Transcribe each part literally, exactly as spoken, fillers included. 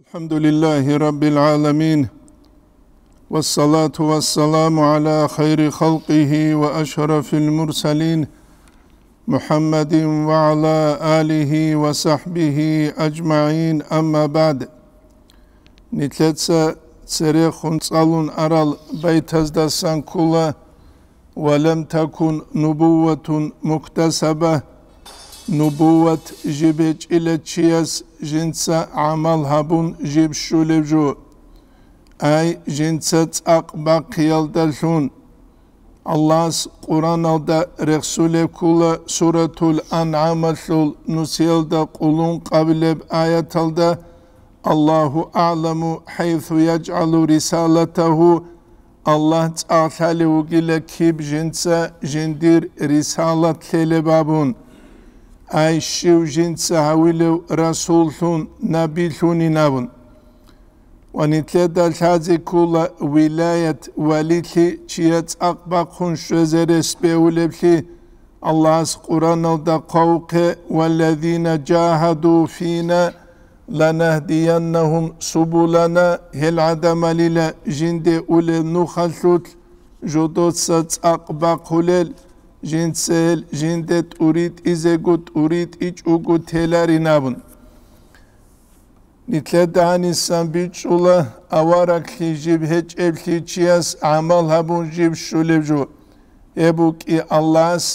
الحمد لله رب العالمين، والصلاة والسلام على خير خلقه وأشرف المرسلين، محمد وعلى آله وصحبه أجمعين، أما بعد. Нилъеца церехун цӀалун арал байтаздасан ккола: «Ва лам такун нубувватун муктасаба», нубувват жиб гьечӀила чияс жинца гӀамал гьабун жиб щулеб жо. Ай, жинца цӀакъ бахъиялдалъун. Аллагьас Къураналда рехсулеб ккола Суратул АнгӀамалъул нусиялда къулун къабилеб аяталда: «Аллагьу а'ламу хӀайсу яджгӀалу рисалатагьу», Аллагь цӀалъалев вугила киб жинца жиндир рисалат лъелеб абун, ай, щив жинца гьавилев расуллъун, набилъунин абун. Ва нилъеда лъазе ккола вилаят, валилъи чияс цӀакъ бахъун щвезе рес бегьулеблъи. Аллагьас Къураналда хъвавухъе: «Валлазина жагьаду фина ланахдияннагьум субулана», гьел гӀадамалила жинде улел нухалъулъ жодоца цӀакъ бахъулел, жинца гьел жинде тӀуритӀизего тӀуритӀичӀого теларин абун. Нилъеда гьанисан бичӀчӀула авараглъи жиб гьечӀеблъи чияс гӀамал гьабун жиб щулеб жо. Гьеб букӀи Аллагьас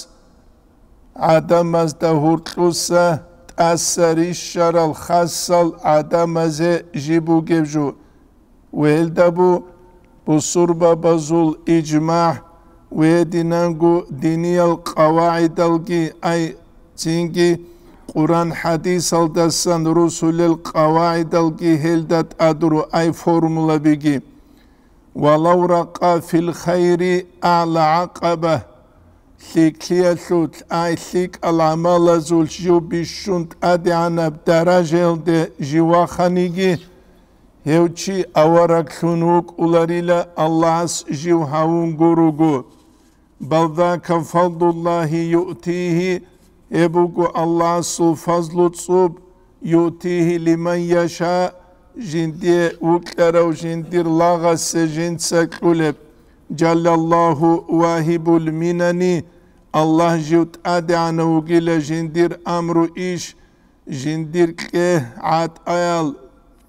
гӀадамазда гьоркьуса тӀаса рищарал хасал гӀадамазе жиб бугеб жо. Гьелда бу-, бусурбабазул ижмагӀ ва гьединанго диниял къавагӀидалги, ай, цинги Къуран-хӀадисалдасан росулел къавагӀидалги гьелда тӀадуру, ай, формулабиги. «Валав ракъа фил хайри агӀла гӀакъаба», лъикӀлъиялъулъ, ай, лъикӀал гӀамалазулъ жив бищун тӀадегӀанаб даражаялде жив ваханиги, гьев чи авараглъун вукӀуларила Аллагьас жив гьавун гуруго. «Бал зака фадлуллагьи юътигьи», гьеб буго Аллагьасул фазлу цӀуб, «юътигьи лиман яша», жиндие вукьарав жиндир лагъасе жинца кьулеб. «Жаллаллагьу вагьибул минани», Аллагь жив тӀадегӀанав вугила жиндир амру иш, жиндир кье гӀатӀаял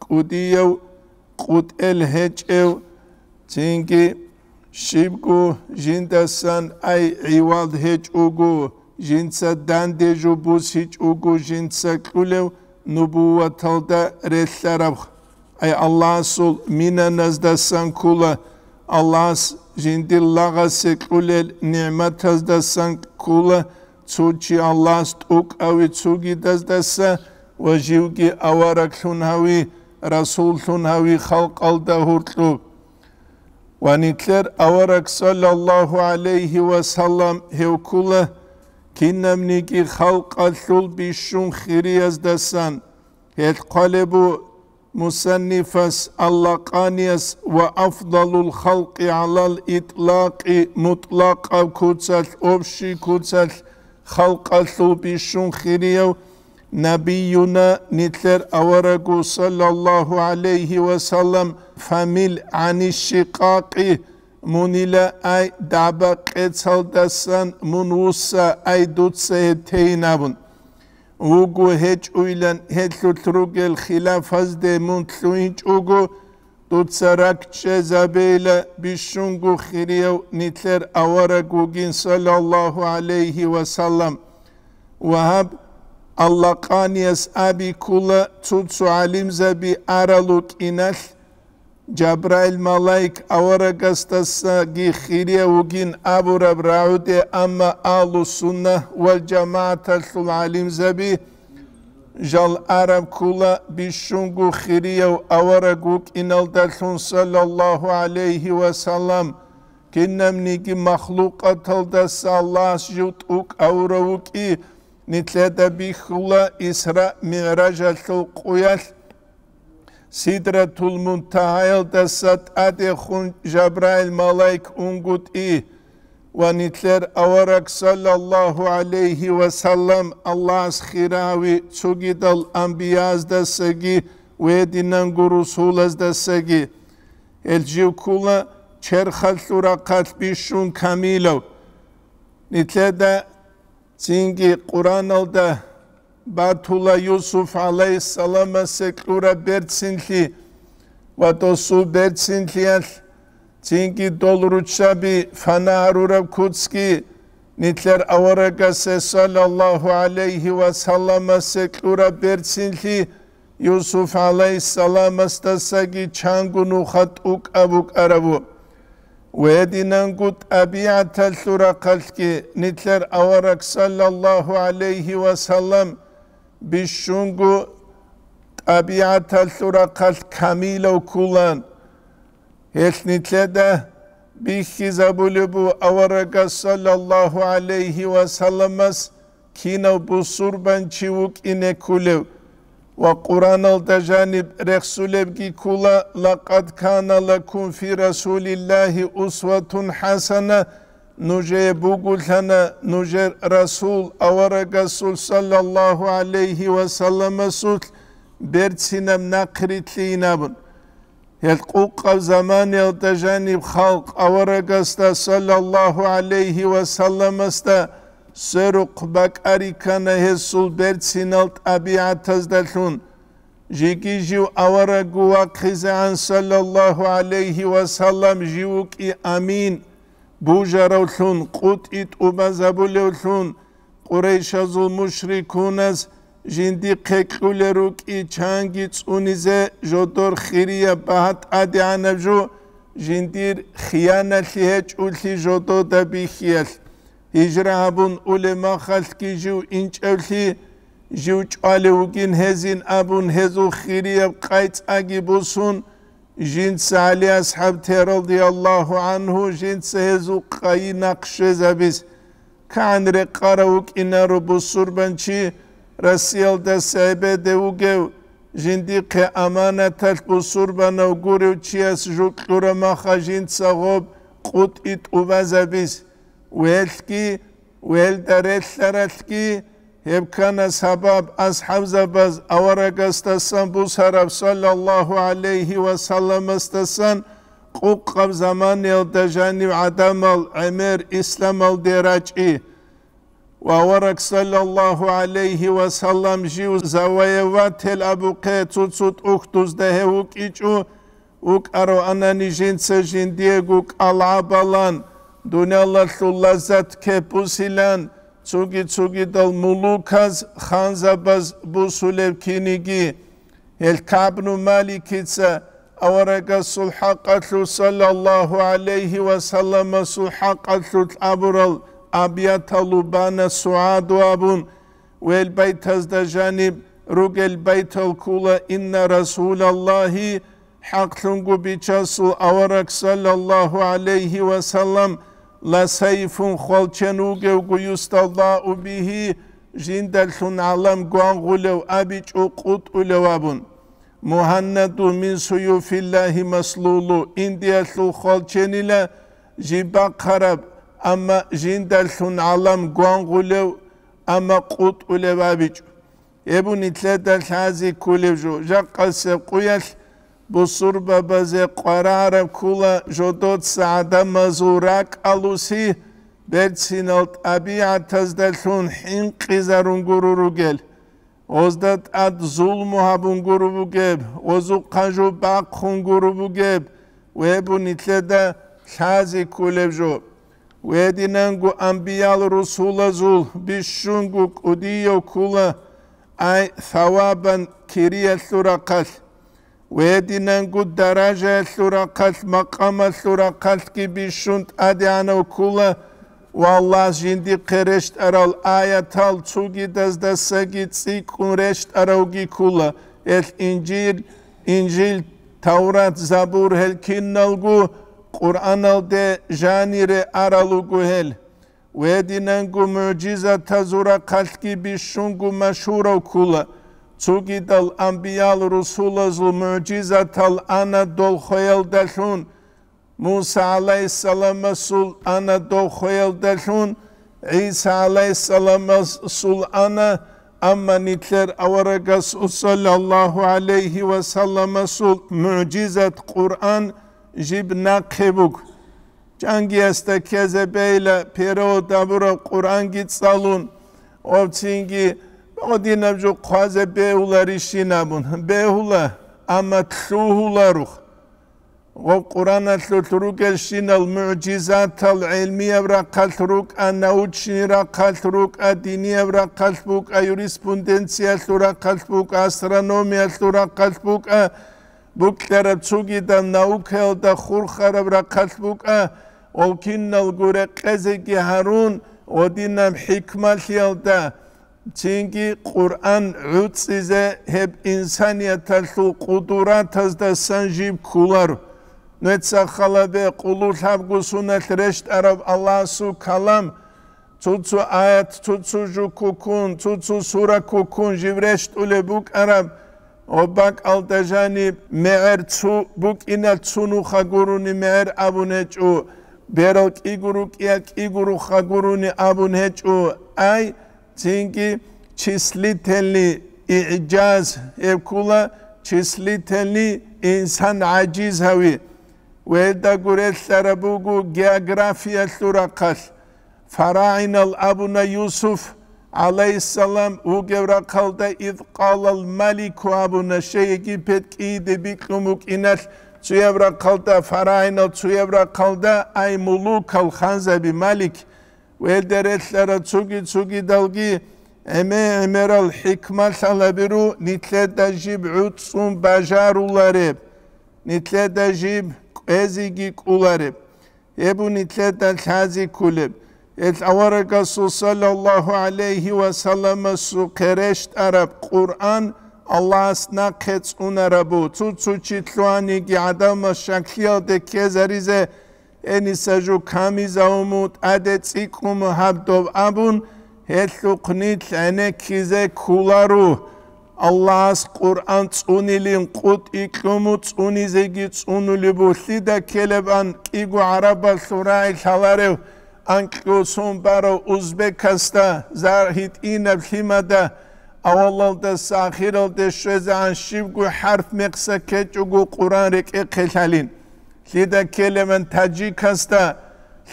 кӀудияв, къутӀел гьечӀев, цинги щибго жиндасан, ай, гӀивал гьечӀого, жинца данде жо бусичӀого жинца кьулев нубувваталда релълъараб. Ай, Аллагьасул минаназдасан ккола, Аллагьас жиндир лагъасе кьулел нигӀматаздасан ккола, цо чи Аллагьас тӀокӀаве цогидаздаса ва живги авараглъун гьави, расуллъун гьави халкъалда гьоркьоб. Ва нилъер авараг, саллаллагьу гӀалайгьи ва саллам, гьев ккола кинабниги халкъалъул бищун хирияздасан. Гьелъ хъвалеб бу мусаннифас, аллакъанияс: «Ва афдалул халкъи гӀалал итлакъи», мутӀлакъаб куцалъ, общий куцалъ, халкъалъул бищун хирияв набиюна, нилъер аварагу, саллаллагьу гӀалайгьи ва саллам, фамил гӀанишшикъакъи, мунила, ай, дагӀба-къецалдасан мун вусса, ай, дуца гьеб тейин абун. Вуго гьечӀуйлан гьелъулъ ругел хилафазде мун лъугьинчӀого, дуца ракӀчӀезабейила бищунго хирияв нилъер авараг вугин, саллаллагьу гӀалайгьи ва саллам. Ва гьаб аллакъанияс аби ккола, цо-цо гӀалимзаби арал рукӀиналъ, Жабраил малаик аварагасдасаги хирияв вугин абураб рагӀуде, амма Агьлу-сунна вал жамагӀаталъул гӀалимзаби жал араб ккола бищунго хирияв авараг вукӀиналдалъун, саллаллагьу гӀалайгьи ва саллам, кинабниги махлукъаталдаса Аллагьас жив тӀокӀ авурав вукӀи, нилъеда бихьула Исра-МигӀражалъул къуялъ, Сидратул Мунтагьаялдаса тӀадехун Жабраил малаик унгутӀи ва нилъер авараг, саллаллагьу гӀалайгьи ва саллам, Аллагьас хирави цогидал анбияздасаги гьединанго русулаздасаги. Гьел жив ккула черхалъул рахъалъ бищун камилав. Нилъеда цинги Къуръаналда батула Юсуф гӀалайгьиссаламасе кьураб берцинлъи ва досул берцинлъиялъ, цинги дол руччаби фана гьарураб куцги, нилъер аварагасе саллаллагьу гӀалайгьи ва салламасе кьураб берцинлъи Юсуф гӀалайгьиссаламасдасаги чанго нуха тӀукӀаб букӀарабу. Гьединанго тӀабигӀаталъул рахъалъги нилъер авараг саллаллагьу гӀалайгьи ва саллам бищунго тӀабигӀаталъул рахъалъ камилав ккулан. Гьелъ нилъеда бихьизабулеб бу аварагас саллаллагьу гӀалайгьи ва салламас кинав бусурбанчи вукӀине ккулев ва Къуръаналда жаниб рехсулебги ккула: «Лакъад кана лакум фи Расулиллагьи усватун хӀасана», нужее бугулъана нужер Расул, аварагасул саллаллагьу гӀалайгьи ва салламасулъ берцинаб нахърилълъийин абун. Гьел къукъаб заманиялда жаниб халкъ аварагасда саллаллагьу гӀалайгьи ва салламасда сверухъ бакӀари ккана гьесул берцинал тӀабигӀатаздалъун. Жеги жив аварагго вахъизегӀан саллаллагьу гӀалайгьи ва саллам жив вукӀи амин бужаравлъун, къутӀи тӀубазабулевлъун, Къурайшазул мушрикуназ жиндихъе кьулел рукӀи чанги цӀунизе жодор хирияб багьа тӀадегӀанаб жо, жиндир хияналъи гьечӀулъи жодода бихьиялъ, гьижра гьабун улеб махалъги жив инчӀевлъи, жив чӀвалев вугин гьезин абун гьезул хирияб къайцӀаги босун, жинца ГӀали асхӀаб те радияллагьу гӀангьу, жинца гьезул къайи нахъ щвезабиз кагӀан рекъарав вукӀинаро бусурбанчи, Россиялдаса гӀебеде вугев, жиндихъе аманаталъ бусурбанав гурев чияс жо кьураб маха жинца гъоб къутӀи тӀубазабиз. Велъги, велда релълъаралъги, гьеб ккана сабаб асхӀабзабаз аварагасдасан бусараб саллаллагьу гӀалайгьи ва салламасдасан къукъаб заманиялда жанив гӀадамал гӀемер исламалде рачӀи. Ва авараг саллаллагьу гӀалайгьи ва саллам жив завоеватель абухъе цо-цо тӀухьдузда гьев вукӀичӀо, вукӀаравани жинца жиндиего кӀалгӀабалан, дуниялалъул лаззат кепусилан, цоги-цогидал мулуказ, ханзабаз бусулеб киниги. Гьел КагӀбну Маликица аварагасул хӀакъалъулъ, саллаллагьу гӀалайгьи ва салламасул хӀакъалъулъ абурал абияталу бана сугӀаду абун, гьел байтазда жаниб ругел байтал ккула: «Инна Расулаллагьи», хӀакълъунго бичасул авараг, саллаллагьу гӀалайгьи ва саллам, «ла сайфун», хвалчен вугевго, «юстадау бигьи», жиндалъун гӀалам гвангъулев абичӀо, къутӀулев абун. «Мугьаннаду мин суюфиллагьи маслулу», индиялъул хвалченила жиб бахъараб, амма жиндалъун гӀалам гвангъулев, амма къутӀулев абичӀо. Гьеб нилъеда лъази кколеб жо, жакъасеб къуялъ бусурбабазе къваригӀараб ккола жодоца гӀадамазул ракӀалуси берцинал тӀабигӀатаздалъун хӀинкъизарун гуро ругел, гъозда тӀад зулму гьабун гуро бугеб, гъозухъа жо бахъун гуро бугеб, гьеб нилъеда лъази кколеб жо. Гьединанго анбиял-русулазул бищунго кӀудияв ккола, ай, савабан кириялъул рахъалъ. Гьединанго даражаялъул рахъалъ, макъамалъул рахъалъги бищун тӀадегӀанав ккола, ва Аллагьас жиндихъе рещтӀарал аятал цогидаздасаги цӀикӀкӀун рещтӀаравги ккола, гьелъ Инжил, Инжил, Таврат, Забур, гьел киналго Къуръаналде жанире арал руго гьел. Гьединанго мугӀжизатазул рахъалъги бищунго машгьурав ккола. Цогидал анбиял-русулазул мугӀжизатал ана дол хвеялдалъун, Муса гӀалайгьиссаламасул ана дов хвеялдалъун, ГӀиса гӀалайгьиссаламасул ана Амма нилъер аварагасул саллаллагьу гӀалайгьи ва салламасул мугӀжизат Къуръан жиб нахъе буго. Чангиясда ккезе бейла перевод гьабураб Къуръанги цӀалун, ва цинги гьадинаб жо хъвазе бегьуларищин абун, бегьула, амма лъугьуларо. Гъоб Къуръаналъулъ ругелщинал мугӀжизатал гӀелмияб рахъалъ рукӀа, научный рахъалъ рукӀа, динияб рахъалъ букӀа, юриспруденциялъул рахъалъ букӀа, астрономиялъул рахъалъ букӀа, букӀараб цогидаб наукаялда хурхараб рахъалъ букӀа, гъол киналго рекъезеги гьарун, гьадинаб хӀикмалъиялда, цинги Къуръан гӀуцӀизе гьеб инсанияталъул къудратаздасан жиб кколаро. Нуца халабе къулу лъабго суналъ рещтӀараб Аллагьасул калам, цо-цо аят, цо-цо жо ккун, цо-цо сура ккун жиб рещтӀулеб букӀараб, ва бакӀалда жаниб мегӀер цо букӀиналъ цо нуха гурони мегӀер абун гьечӀо, берал кӀиго рукӀиялъ кӀиго руха гурони абун гьечӀо, ай, цинги числительный игӀжаз гьеб ккола, числительный инсан гӀажиз гьави. Ва гьелдаго релълъараб буго географиялъул рахъалъ. ФарагӀинал абуна Юсуф, гӀалайгьиссалам, вугев рахъалда, «Из къалал малику», абуна, щай Египет кӀийиде бикьун букӀиналъ цояб рахъалда, фарагӀинал цояб рахъалда, ай мулукал, ханзаби, малик. Гьелде релълъарал цоги-цогидалги гӀемер-гӀемерал хӀикмалъал гьабиру, нилъеда жиб гӀуцӀцӀун бажарулареб, нилъеда жиб кӀвезеги кӀолареб. Гьеб нилъеда лъазе кколеб. Гьел аварагасул саллаллагьу гӀалайгьи ва салламасухъе рещтӀараб Къуръан Аллагьас нахъе цӀунарабу, цо-цо чи лъугьаниги гӀадамал щаклъиялде ккезаризе, гьениса жо камизавуму, тӀаде цӀикӀкӀуму гьаб доб абун, гьелъухъ нилъ гӀенеккизе кколаро. Аллагьас Къуръан цӀунилин къутӀикьуму, цӀунизеги цӀунулеб бугьлъида ккелебан кӀиго гӀарабалъул рагӀи лъаларев, анкьго сон барав узбекасда, зар гьитӀинаб лъимада, авалалдаса ахиралде щвезегӀан щибго хӀарп мекъса ккечӀого Къуръан рекӀехъе лъалин. Лъида ккелебан таджикасда,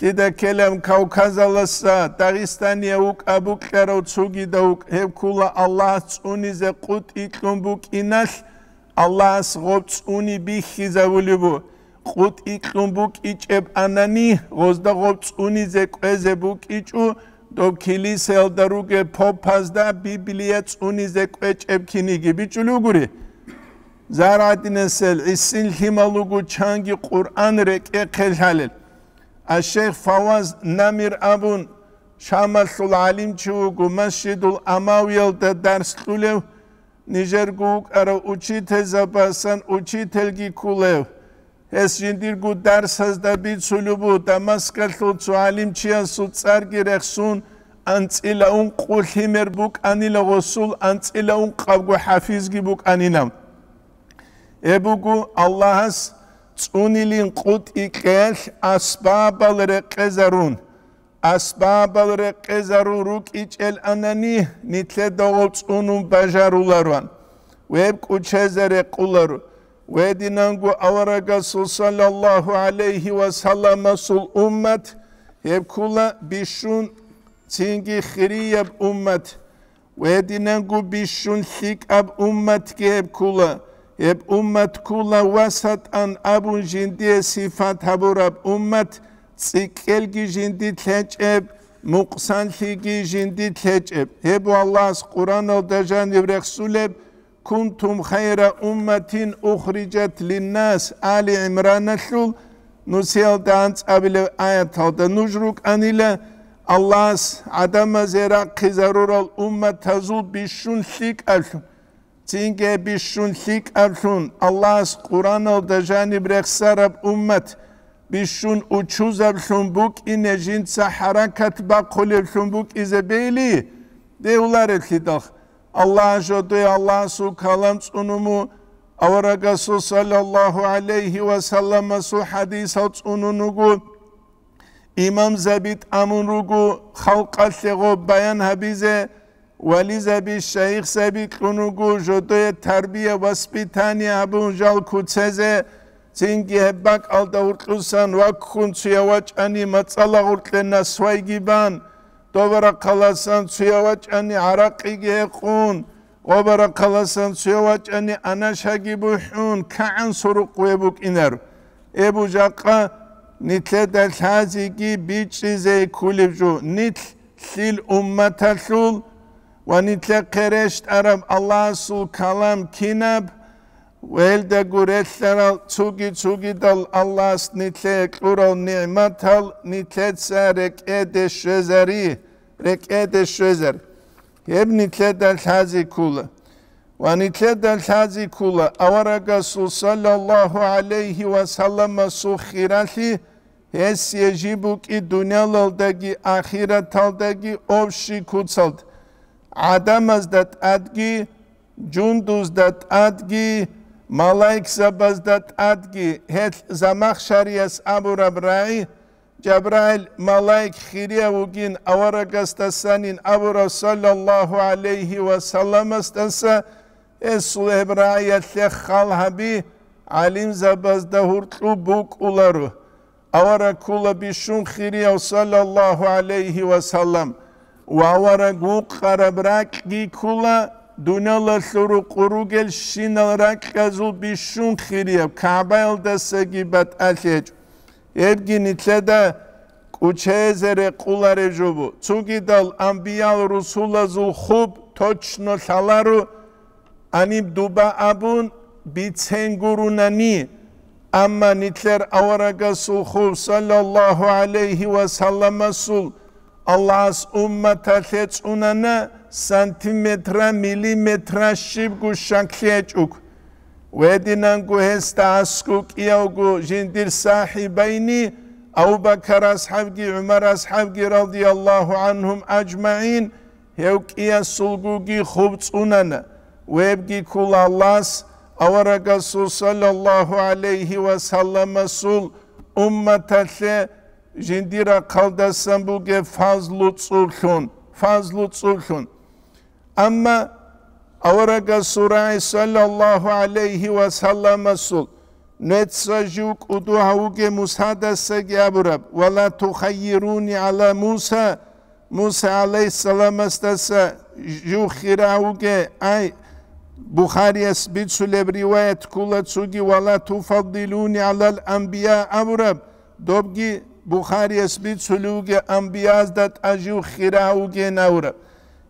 лъида ккелебан Кавказаласа, Дагъистания вукӀа букьарав цогида вукӀ, гьеб ккула Аллагьас цӀунизе къутӀикьун букӀиналъ, Аллагьас гъоб цӀуни бихьизавулеб бу. КъутӀикьун букӀичӀеб анани, гъозда гъоб цӀунизе кӀвезе букӀичӀо, доб килисаялда ругеб попазда Библия цӀунизе кӀвечӀеб киниги бичӀчӀулев гури. Зар гьадинасел гӀисин лъимал руго чанги Къуръан рекӀехъе лъалел. Аш-шейх Фаваз Намир абун, Шамалъул гӀалимчи вуго, Масжидул Амавиялда дарс кьулев, нижерго вукӀарав учительзабасан учительги ккулев. Гьес жиндирго дарсазда бицулеб бу, Дамаскалъул цо гӀалимчиясул цӀарги рехсун, анцӀила ункъо лъимер букӀанила, гъосул анцӀила ункъабго хӀафизги букӀанила. Гьеб буго Аллагьас цӀунилин къутӀикьеялъ асбабал рекъезарун. Асбабал рекъезарун рукӀичӀел анани, нилъеда гъоб цӀунун бажарулароан. Гьеб кӀучезе рекъуларо. Гьединанго аварагасул саллаллагьу гӀалайгьи ва салламасул уммат, гьеб ккула бищун цинги хирияб уммат. Гьединанго бищун лъикӀаб умматги гьеб ккула. Гьеб уммат ккула васатӀан абун жиндие сифат гьабураб уммат, цӀикӀкӀелги жинди лъечӀеб, мукъсанлъиги жинди лъечӀеб. Гьеб Аллагьас Къуръаналда жаниб рехсулеб, «Кунтум хайра умматин ухриджат линнас», Али ГӀимраналъул нусиялда анцӀабилев аяталда нуж рукӀанила Аллагьас гӀадамазе рахъизарурал умматазул бищун лъикӀаблъун. Цинги бищун лъикӀаблъун Аллагьас Къуръаналда жаниб рехсараб уммат бищун учузаблъун букӀине жинца хӀаракат бахъулеблъун букӀизе бейли, бегьулареблъидал. Аллагь жодое Аллагьасул калам цӀунуму, аварагасул саллаллагьу гӀалайгьи ва салламасул хӀадисал цӀунун руго, имамзаби тӀамун руго халкъалъе гъоб баян гьабизе, Вализаби, шайихзаби кьун руго жодое тарбия-воспитание гьабун жал куцазе, цинги гьеб бакӀалда гьуркьусан ваккун цуя вачӀани мацӀала гъоркье насвайги бан, добарахъаласан цуя вачӀани гӀаракъиги гьекъун, гъобарахъаласан цуя вачӀани анашаги бухӀун, кагӀан сурукъ гьеб букӀинар. Эбу жакъа нилъеда лъазеги бичӀчӀизе кколеб жо, нилъ лъил умматалъул ва нилъехъе рещтӀараб Аллагьасул калам кинаб, ва гьелдаго релълъарал цуги-цугидал Аллагьас нилъее кьурал нигӀматал нилъеца рекӀеде щвезари, рекӀеде щвезар. Гьеб нилъеда лъази ккола. Ва нилъеда лъази ккола аварагасул саллаллагьу гӀалайгьи ва салламасул хиралъи, гьесие жиб букӀи дуниялалдаги ахираталдаги общий куцалд. ГӀадамазда тӀадги, жундузда тӀадги, малаикзабазда тӀадги гьелъ Замахшарияс абураб рагӀи, Жабраил малаик хирияв вугин аварагасдасанин абурав саллаллагьу гӀалайгьи ва салламасдаса, гьесул гьеб рагӀиялъе хал гьаби, гӀалимзабазда гьуркьу букӀуларо. Авараг ккула бищун хирияв саллаллагьу гӀалайгьи ва саллам, ва авараг вукъараб ракьги ккула, дуниялалъул рукъу ругелщинал ракьазул бищун хирияв, КагӀбаялдасаги батӀалъи гьечӀо. Гьебги нилъеда кӀучезе рекъулареб жо бу. Цугидал амбиял-русулазул хуб точно лъаларо, гьаниб дуба абун бицен гурунани, амма нилъер аварагасул хуб, саллаллагьу гӀалайгьи ва салламасул, Аллагьас умматалъе цӀунана сантиметра, миллиметра щибго щаклъи гьечӀого. Гьединанго гьесда аскӀов кӀиявго жиндир сахӀибайни, Абу-Бакар асхӀабги ГӀумар асхӀабги, радияллагьу гӀанхум ажмагӀин, гьев кӀиясулгоги хуб цӀунана, гьебги ккула Аллагьас аварагасул саллаллагьу гӀалайгьи ва салламасул умматалъе жиндир рахъалдасан бугеб фазлу цӀублъун, фазлу цӀублъун. Амма аварагасул рагӀи саллаллагьу гӀалайгьи ва салламасул нуца жив кӀуду гьавуге Мусадасаги абураб: «Ва ла тухаййируни гӀала Муса», Муса гӀалайгьиссаламасдаса жив хира гьавуге, ай, Бухарияс бицулеб риваят ккула цуги: «Ва ла туфаддилуни гӀалал анбия», абураб, добги Бухарияс бицулев вугев амбиязда тӀа жив хира гьавугейин абураб.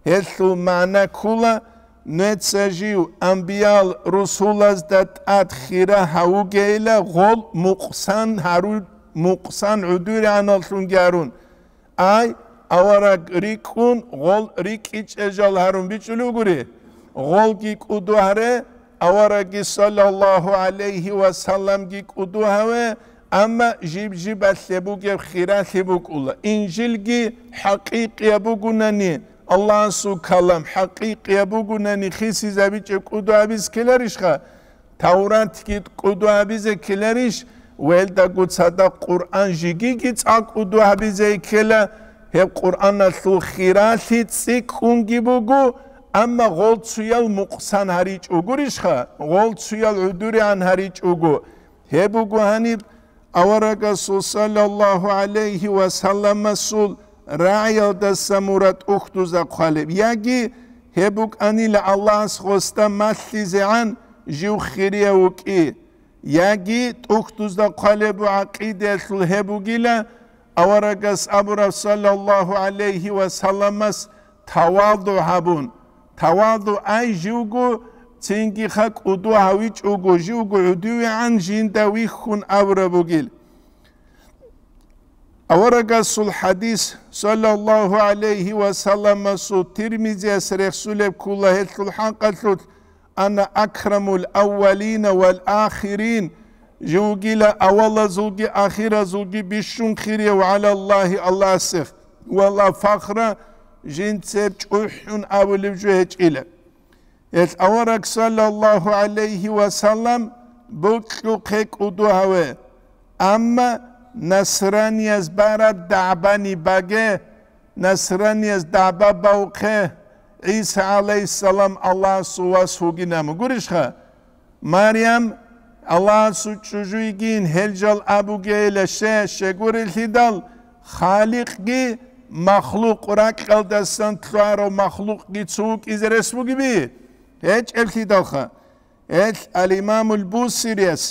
Гьелъул магӀна ккула, нуца жив амбиял-русулазда тӀад хира гьавугейила гъол мукъсан гьару-, мукъсан гӀудуригӀаналлъунги гьарун. Ай, авараг рикӀкӀун, гъол рикӀкӀичӀел жал гьарун бичӀчӀулев гури. Гъолги кӀуду гьаре, аварагги саллаллагьу гӀалайгьи ва салламги кӀуду гьаве, амма жиб-жибалъе бугеб хиралъи букӀула. Инжилги хӀакъикъияб бугунани, Аллагьасул калам хӀакъикъияб бугунани хисизабичӀеб кӀуду гьабизе ккеларищха? Тавратги кӀуду гьабизе ккеларищ? Велдаго цадахъ Къуръан жигиги цӀакъ кӀуду гьабизе ккела, гьеб Къуръаналъул хиралъи цӀикӀкӀунги буго, амма гъол цуял мукъсан гьаричӀо гурищха, гъол цуял гӀудуригӀан гьаричӀого. Гьеб буго гьаниб аварагасул саллаллагьу гӀалайгьи ва салламасул рагӀиялдаса мурад тӀухьдузда хъвалеб, яги гьеб букӀанила Аллагьас гъосда малъизегӀан жив хирияв вукӀи, яги тӀухьдузда хъвалеб гӀакъидаялъул гьеб бугила, аварагас абураб саллаллагьу гӀалайгьи ва салламас таваду гьабун, таваду ай живго цинги ха кӀуду гьавичӀого, живго гӀудувегӀан жинда вихьун абураб бугил. Аварагасул хадис, саллаллагьу гӀалайгьи ва салламасул, Тирмизияс рехсулеб ккула гьелъул хӀакъалъулъ: «Ана акрамул аввалина вал ахирин», живгила авалазулги ахиразулги бищун хирияв гӀалаллагьи Аллагьасехъ, «ва ла фахра», жинцеб чӀухӀун абулеб жо гьечӀила. Гьелъ авараг, саллаллагьу гӀалайгьи ва саллам, бокьухъе кӀуду гьаве. Амма насранияз бараб дагӀбани баге, насранияз дагӀба бавхъе, ГӀиса гӀалайгьиссалам Аллагьасул вас вугин абун. Гурищха? Марям Аллагьасул чӀужу йигин, гьел жал абугейила, ще, щегурелъидал, Халикъги махлукъ, ракьалдасан лъугьарав махлукъги цо вукӀизе рес бугеби? ГьечӀеблъидалха. Гьел Ал-Имамул Бусирияс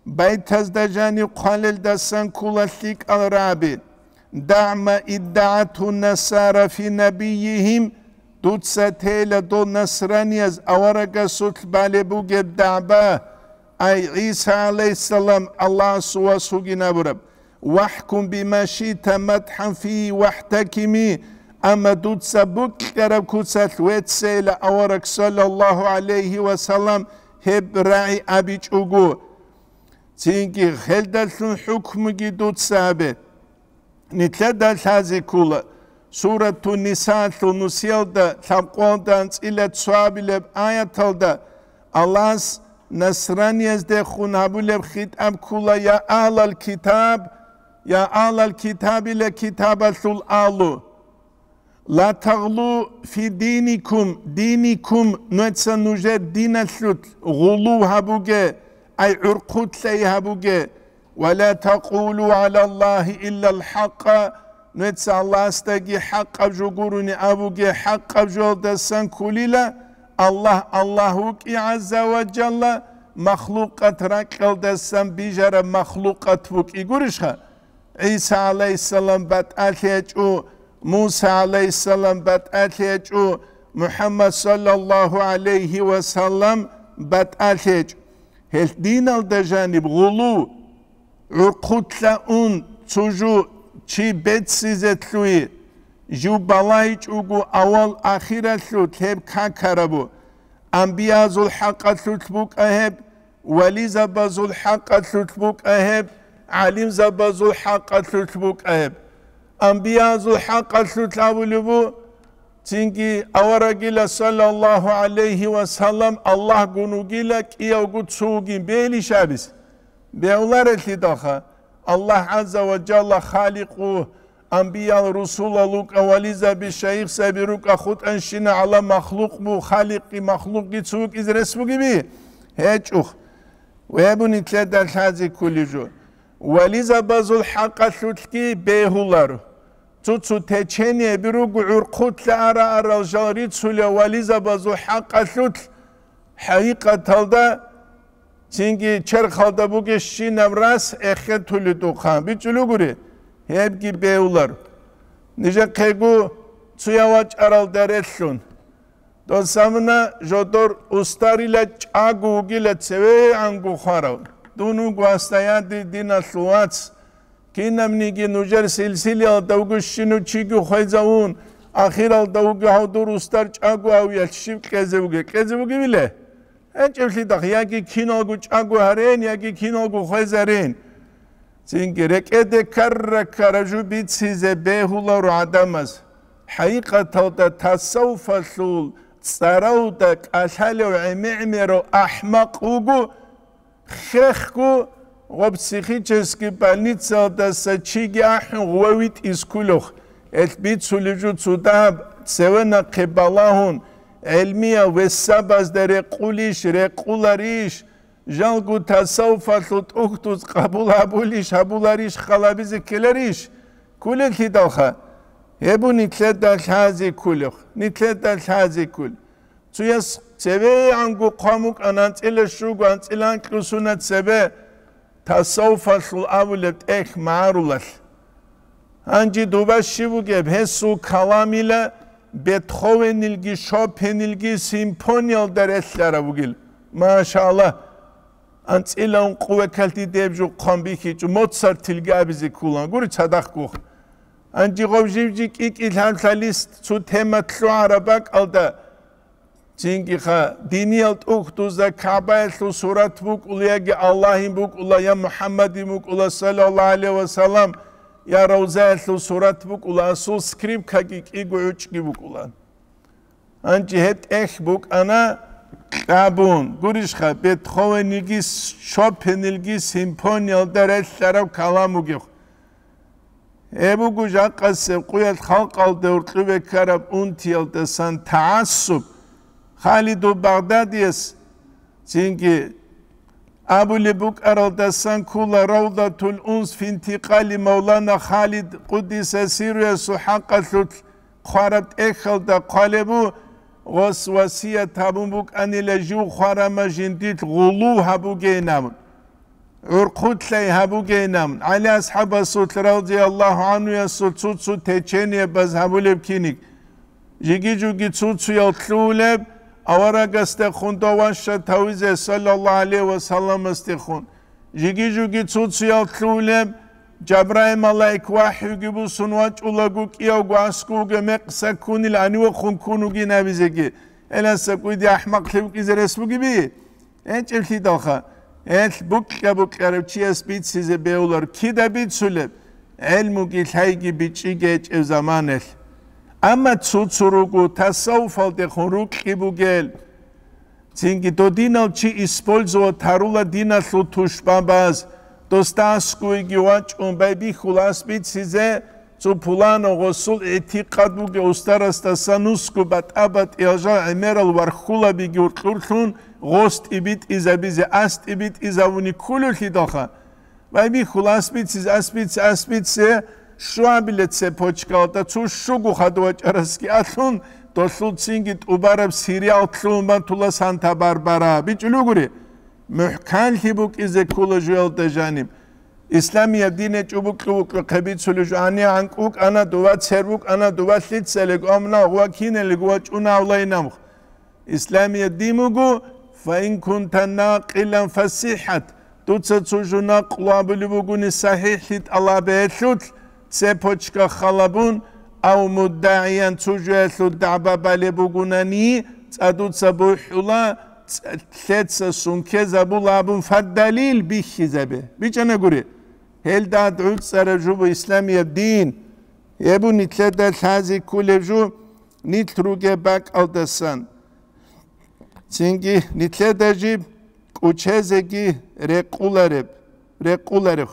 байтазда жаниб хъвалелдасан ккола лъикӀал рагӀаби: «ДагӀ ма иддагӀатгьу насара фи набийигьим», дуца тейила дол насранияз аварагасулъ балеб бугеб дагӀба, ай ГӀиса гӀалайгьиссалам Аллагьасул вас вугин абураб. «ВахӀкум бима шиъта мадхӀан фигьи вахӀтакими», амма дуца букьараб куцалъ веццейила авараг саллаллагьу гӀалайгьи ва саллам гьеб рагӀи абичӀого. Цинги гьелдалъун хӀукмуги дуца гьабе. Нилъеда лъазе ккола Сурату Нисаалъул нусиялда лъабкъоялда анцӀила цоабилеб аяталда Аллагьас насранияздехун гьабулеб хитӀаб ккола: «Я агьлал китаб, я агьлал китабила китабалъул агьлу». «Ла тагълу фи диникум», диникум, нуца нужер диналъулъ гъулув гьабуге, ай гӀурхъулъай гьабуге, «ва ла такъулу гӀалаллагьи иллал хӀакъа», нуца Аллагьасдаги хӀакъаб жо гурони абуге, хӀакъаб жоялдасан кколила, Аллагь Аллагь вукӀи гӀазза ва жалла, махлукъат ракьалдасан бижараб махлукъат вукӀи гурищха? ГӀиса гӀалайгьиссалам батӀалъи гьечӀо, Муса гӀалайгьиссалам батӀалъи гьечӀо, МухӀаммад саллаллагьу гӀалайгьи ва саллам батӀалъи гьечӀо. Гьел диналда жаниб гъулу, гӀурхъулъа ун цо жо чи беццизе лъугьи, жив балайчӀого авал ахиралъулъ гьеб какарабу. Амбиязул хӀакъалъулъ букӀа гьеб, вализабазул хӀакъалъулъ букӀа гьеб, гӀалимзабазул хӀакъалъулъ букӀа гьеб. Амбиязул хӀакъалъулъ абулеб бу, цинги аварагила саллаллагьу гӀалайгьи ва саллам Аллагьгун вугила, кӀиявго цо вугин, бегьилищ абизе? Бегьуларелъидалха, Аллагь гӀазза ва жалла халикъу, амбиял, русулал рукӀа, вализаби, шайихзаби рукӀа, хутӀанщина гӀала махлукъ бу, халикъги махлукъги цо вукӀизе рес бугеби? ГьечӀухъ. Веб нилъеда лъазе кколеб жо. Вализабазул хӀакъалъулъги бегьуларо. Цо-цо течениеби руго гӀурхъулъа ара-арал жал рицулев вализабазул хӀакъалъулъ, хӀакъикъаталда цинги черхалда бугебщинаб рас эхетуледухъан бичӀчӀулугури, гьебги бегьулар. Нижехъего цояв вачӀаралда релълъун. Досамна жодор устарила чӀаго вугила цевегӀанго хварав. Дун вуго гьасда, я дир диналъул вац, кинабниги нужер силсилиялда вуго щинав чиги хвезавун, ахиралда вуго гьав дур устар чӀаго гьавиялъ щиб кьезе вуге, кьезе вугевиле? ГьечӀеблъидахъ, яги киналго чӀаго гьарен, яги киналго хвезарен. Цинги рекӀеде ккара-ккара жо бицизе бегьуларо гӀадамаз. ХӀакъикъаталда тасаввуфалъул цӀаравда кӀалъалев гӀемер-гӀемерав ахӀмакъ вуго, хехго гъоб психический больницаялдаса чиги ахӀун гъувавитӀиз кколев. Гьелъ бицулеб жо цо дагьаб цеве нахъе балагьун, гӀелмиял весабазда рекъулищ, рекъуларищ? Жалго тасаввуфалъул тӀухьдуз къабул гьабулищ, гьабуларищ, халабизе ккеларищ? Кколелъидалха, гьеб нилъеда лъазе кколеб, нилъеда лъазе кколеб. Цояс цевегӀанго хъван букӀана анцӀила щуго, анцӀила анкьго сунат цебе, тасаввуфалъул абулеб тӀехь магӀарулалъ. Гьанже доба щиб бугеб, гьесул каламила Бетховенилги Шопенилги симфониялда релълъараб бугил. Машаллагь! АнцӀила ункъо векалъ диде гьеб жо хъван бихьичӀо, Моцартилги абизе кколан. Гури цадахъ гух. Гьанже гъов жив-жив кӀи-кӀи лъаб-лъалис цо тема лъугӀараб бакӀалда, Цинги-ха, диниял тӀухьдузда КагӀбаялъул сурат букӀула, яги Аллагьин букӀула, я МухӀаммадин букӀула, саллаллагьу гӀалайгьи ва саллам, я Равзаялъул сурат букӀула, асул скрипкаги кӀиго гӀучӀги букӀула. Гьанже гьеб тӀехь букӀана кьабун, гурищха, Бетховенилги Шопенилги симфониялда релълъараб калам бугеб. Гьеб буго жакъасеб къуялъ халкъалде гьоркьобе ккараб унтиялдасан тагӀассуб. Халидул Багъдадияс цинги абулеб букӀаралдасан ккола Равдатул Унс фи интикъали Мавлана Халид Къуддиса сирруясул хӀакъалъулъ хъвараб тӀехьалда хъвалеб буго, гъос васият гьабун букӀанила жив хварама жиндилъ гъулу гьабугейин абун, гӀурхъулъай гьабугейин абун, ГӀали асхӀабасулъ радияллагьу гӀанхуясул цо-цо течениябаз гьабулеб киниг. Жиги-жуги цо-цоял лъугьулеб, аварагасдехун дов ваща тавизе, саллаллагьу гӀалайгьи ва салламасдехун. Жиги-жуги цо-цоял лъугьулеб, Жабраил малаик вахӀюги бусун вачӀулаго кӀиявго аскӀовги мекъса ккунил гьанивехун ккун вугин абизеги. Гьеласа кӀуди ахӀмакълъи вукӀизе рес бугеби? ГьечӀеблъидалха, гьелъ букьа-букьарав чияс бицизе бегьулар кида бицулеб, гӀелмуги лъайги бичӀчӀиги гьечӀев заманалъ. Амма цо-цо руго тасаввуфалдехун рукьи бугел. Цинги додинав чи использовать гьарула диналъул тушбабаз, досда аскӀовеги вачӀун байбихьула ас бицизе, цо пуланав гъосул гӀитикъад бугев устарасдаса нусго батӀа-батӀиял жал гӀемерал вархьулабиги гьоркьорлъун гъос тӀибитӀизабизе ас тӀибитӀизавуни кколевлъидалха. Байбихьула ас бицизе, ас бице, ас бице, щуабиле цепочкалда цо щуго хадув вачӀарасги алъун, долъул цинги тӀубараб сериал лъугьун батула Санта-Барбара. БичӀчӀулев гури, мухӀканлъи букӀизе ккола жуялда жаниб. Исламияб дине чӀубукьу-букьу хъебицулев жо, гьанив гӀанкӀ вукӀана, дова цер вукӀана, дова лъицалего, амна гъува киналего вачӀуна авлаинамх. Исламияб дин буго, «Фаин кунта накъилан фасихӀат», дуца цо жо накълу абулеб бугони сахӀихӀлъи тӀалабе гьелъулъ, цепочка халабун, ав муддагӀиян цо жоялъул дагӀба балеб бугунани, цӀадуца бухӀула, цӀ-, лъеца сункезабула абун фаддалил бихьизабе. БичӀчӀана гури, гьелда гӀуцӀараб жо буго исламияб дин. Гьеб буго нилъеда лъазе кколеб жо, нилъ ругеб бакӀалдасан. Цинги нилъеда жиб кӀучезеги рекъулареб, рекъулареб.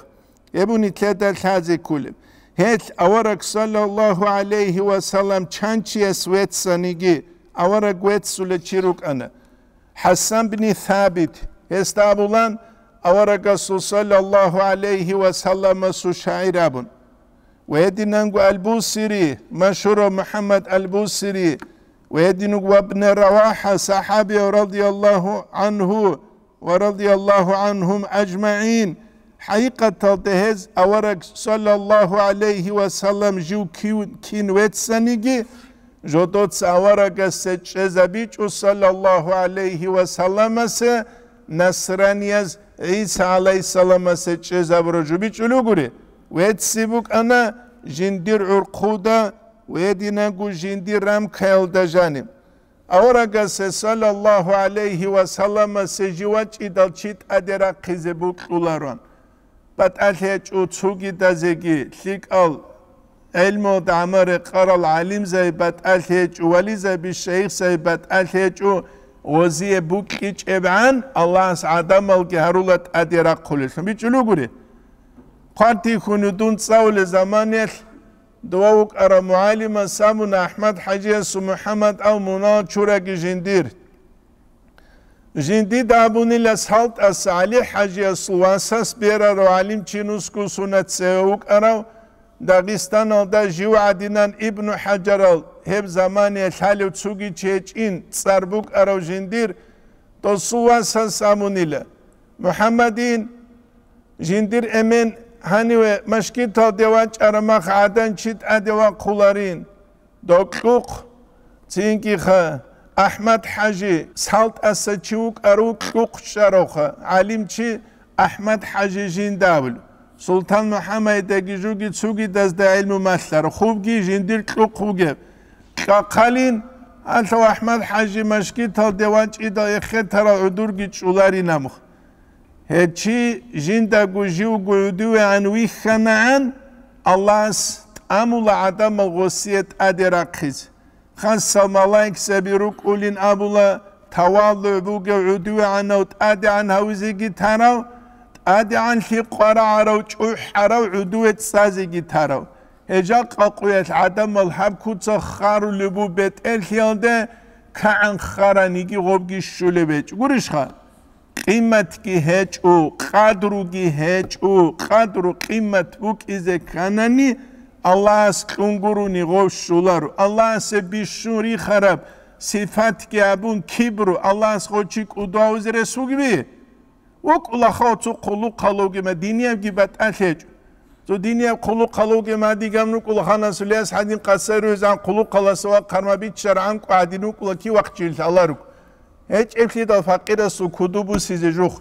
Гьеб буго нилъеда лъазе кколеб. Гьелъ авараг, саллаллагьу гӀалайгьи ва саллам, чанчияс веццаниги, авараг веццулев чи рукӀана. ХӀасан бин Сабит, гьесда абулан, аварагасул, саллаллагьу гӀалайгьи ва салламасул шагӀир абун. Ва гьединанго Аль-Бусири, машгьурав МухӀаммад Аль-Бусири, ва гьединго Ибн РавахӀа, сахӀабияв, радияллагьу гӀанху ва радияллагьу гӀанхум ажмагӀин, хӀакъикъаталда гьез авараг, саллаллагьу гӀалайгьи ва саллам, жив кив-, кин веццаниги, жодоца аварагасе чӀезабичӀо, саллаллагьу гӀалайгьи ва салламасе, насранияз ГӀиса гӀалайгьиссаламасе чӀезабураб жо бичӀчӀулев гури, вецци букӀана жиндир гӀурхъуда ва гьединанго жиндир рамкаялда жаниб. Аварагасе, саллаллагьу гӀалайгьи ва салламасе, жив вачӀидал чи тӀаде рахъизе бокьулароан. БатӀалъи гьечӀо цогидазеги, лъикӀал гӀелмуялда гӀамал рекъарал гӀалимзаби батӀалъи гьечӀо, вализаби, шайихзаби батӀалъи гьечӀо, гъозие букьичӀебгӀан Аллагьас гӀадамалги гьарула тӀаде рахъулелъун. БичӀчӀулев гури, хъвартихьун дун цӀалулел заманаялъ, дова вукӀарав мугӀалимас абуна, АхӀмад-хӀажиясул МухӀаммад ав мунагьал чураги жиндир. Жиндида абунила СалтӀас ГӀали-хӀажиясул васас берарав гӀалимчи нусго сунат цеве вукӀарав, Дагъистаналда жив гӀадинан Ибну ХӀажарал гьеб заманаялъ лъалев цоги чи гьечӀин цӀар букӀарав жиндир, досул васас абунила, МухӀаммадин, жиндир эмен гьаниве машгиталде вачӀараб мах гӀадан чи тӀаде вахъуларин. Докьухъ, цинкӀиха, АхӀмад-хӀажи, СалтӀаса чи вукӀарав кьухъ чӀаравха, гӀалимчи АхӀмад-хӀажи жинда абулев. Султан МухӀаммадидаги жуги цогидазда гӀилму малъарав, хубги жиндир кьухъ вугев. Кьахъалин, гьалъав АхӀмад-хӀажи машгиталде вачӀидал эхетарал гӀудурги чӀуларин амх. Гьеб чи жиндаго живго гӀудувегӀан вихьанагӀан, Аллагьас тӀамула гӀадамал гъосие тӀаде рахъизе. Хасал малаикзаби рукӀулин абула, тавалугӀ бугев гӀудувегӀанав тӀадегӀан гьавизеги тарав, тӀадегӀанлъи къварагӀарав чӀухӀарав гӀудуве цӀазеги тарав. Гьеб жакъа къуялъ гӀадамал гьаб куца харулеб бу бетӀерлъиялде, кагӀан хараниги гъобги щулеб гьечӀо. Гурищха? Къиматги гьечӀо, къадруги гьечӀо, къадру къимат букӀизе кканани, Аллагьас кьун гурони гъов щоларо. Аллагьасе бищун рихараб сипатги гьабун кибру, Аллагьас гъов чи кӀудо гьавизе рес вугеби? ВукӀула хав цо хъулухъалавги ма диниябги батӀалъ гьечӀо. Цо динияб хъулухъалавги ма дигаб нукӀула ханасулияс гьадин къасай ругьизан хъулухъаласа ва хъарма биччаргӀанкӀу гьадин вукӀула кивахъчил лъаларуг. ГьечӀеблъидал факъирасул куду бусизе жух.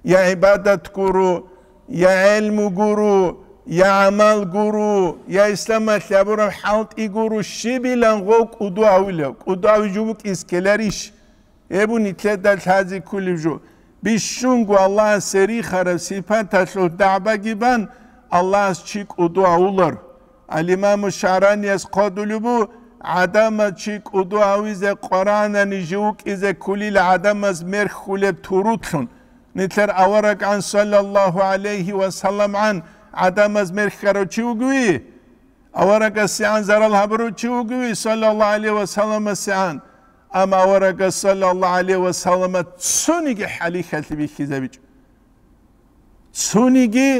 Я гӀибадат гуро, я гӀелму гуро, я гӀамал гуро, я исламалъ гьабураб хӀалтӀи гуро, щибилан гъов кӀудо гьавилев, кӀудо гьавиж букӀис ккеларищ? Гьеб нилъеда лъазе кколеб жо. Бищунго Аллагьасе рихараб сипаталъул дагӀбаги бан, Аллагьас чи кӀудо гьавулар. Ал-Имаму ШагӀранияс хъвадулеб бу, гӀадамаз чи кӀудо гьавизе Къуръанани жив вукӀизе кколила гӀадамаз мерхьулеб турутлъун. Нилъер авараган, саллаллагьу гӀалайгьи ва салламгӀан, гӀадамаз мерхьарав чи вугевий? АварагасегӀан зарал гьабурав чи вугевий, саллаллагьу гӀалайгьи ва салламасегӀан? Амма аварагас, саллаллагьу гӀалайгьи ва саллама, цониги хӀалихьалъи бихьизабичӀо. Цониги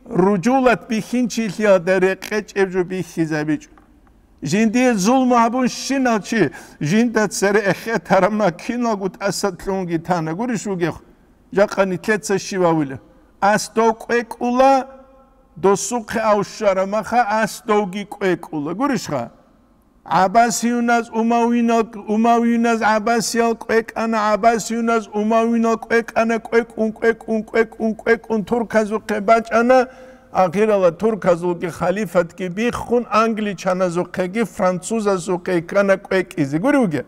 ружулат бихьинчилъиялда рекъечӀеб жо бихьизабичӀо. Жиндие зулму гьабун щинал чи, жинда цере эхетараб ма киналго тӀаса кьунги тана. Гурищ вугев? Жакъа нилъеца щивавила. Ас дов кӀвекӀула, досухъе авщара маха, ас довги кӀвекӀула. Гурищха? ГӀаббасиюназ, умавинал-, умавиназ гӀаббасиял кӀвекӀана, гӀаббасиюназ умавинал кӀвекӀана, кӀвекӀун, кӀвекӀун, кӀвекӀун, кӀвекӀун, турказухъе бачӀана, ахирала турказулги халифатги биххун, англичаназухъеги французазухъе ккана кӀвекӀизе. Гури вуге?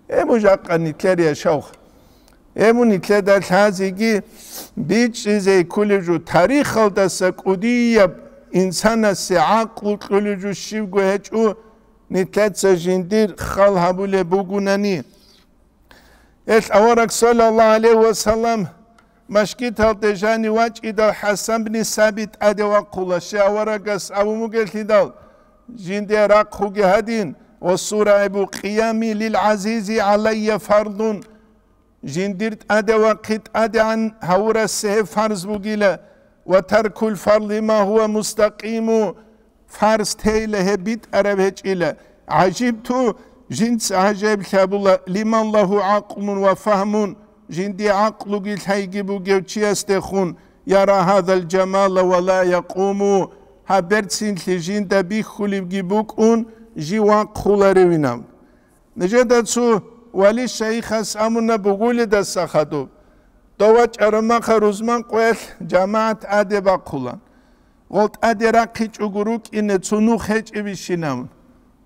Гьеб жакъа нилъер яшав. Гьеб нилъеда лъазеги бичӀчӀизе кколеб жо, тарихалдаса кӀудияб инсанасе гӀакълу кьолеб жо щибго гьечӀо, нилъеца жиндир хал гьабулеб бугунани. Гьелъ авараг, саллаллагьу гӀалайгьи ва саллам, машгиталде жанив вачӀидал ХӀасан бни Сабит тӀаде вахъула, щай аварагас абун бугелъидал, жинде рахъуги гьадин, ва сурайбу къиями лил гӀазизи гӀалайя фардун, жиндир тӀаде вахъи тӀадегӀан гьавурасе гьеб фарз бугила, ва таркул фарли ма гьува мустакъиму, фарз тейила гьеб битӀараб гьечӀила. ГӀажибту, жинца гӀажаиблъи гьабула, лиман лагьу гӀакълун ва фагьмун, жиндие гӀакълуги лъайги бугев чиясдехун, яра гьадал жамала ва ла якъуму, гьаб берцинлъи жинда бихьулебги букӀун, жив вахъуларевинав. Нижеда цо вали шайихас амуна бугулидаса хадуб. Дов вачӀараб маха рузман къоялъ жамагӀат тӀаде бахъула. Гъол тӀаде рахъичӀого рукӀине цо нух гьечӀебищинав?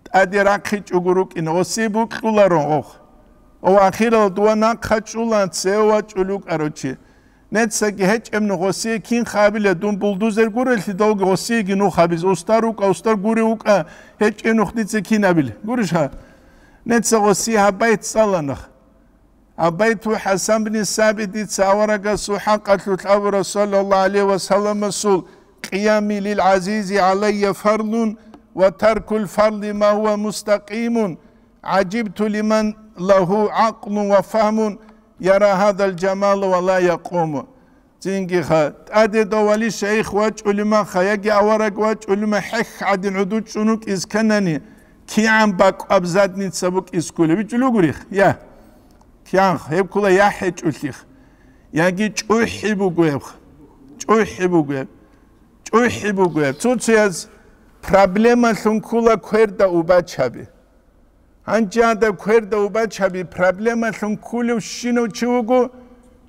ТӀаде рахъичӀого рукӀине, гъосие букьуларо гъох. Ва ахирал дова нахъа чӀула цеве вачӀул вукӀарав чи. Нецаги гьечӀеб нух гъосие кин хабила, дун булдузер гурелъидалги гъосиеги нух гьабиз. Устар вукӀа, устар гурев вукӀа, гьечӀеб нух дица кин абила. Гурищха? Неца гъосие гьаб байт цӀаланах. Гьаб байту ХӀасан бни Сабит дица аварагасул хӀакъалъулъ абура, саллаллагьу гӀалайгьи ва салламасул, къиями лил гӀазизи гӀалайя фарлун ва таркул фарли ма гьува мустакъимун, гӀажибту лиман лагьу гӀакълун ва фагьмун, яра гьадал жамала ва ла якъуму. Цинги ха, тӀаде дов вали шайих вачӀулима ха, яги авараг вачӀулима хӀех гӀадин гӀуду чӀун вукӀиз кканани, кигӀан бакӀваб задница букӀиз кколеб? БичӀчӀулев гурих? Я. КигӀан гьеб ккола я хӀечӀулъих, яги чӀухӀи буго гьеб. ЧӀухӀи буго гьеб. ЧӀухӀи буго гьеб. Цо-цояз проблемалъун ккола кверда убачаби. Гьанже гьадаб кверда убачаби проблемалъун кколев щинав чи вуго,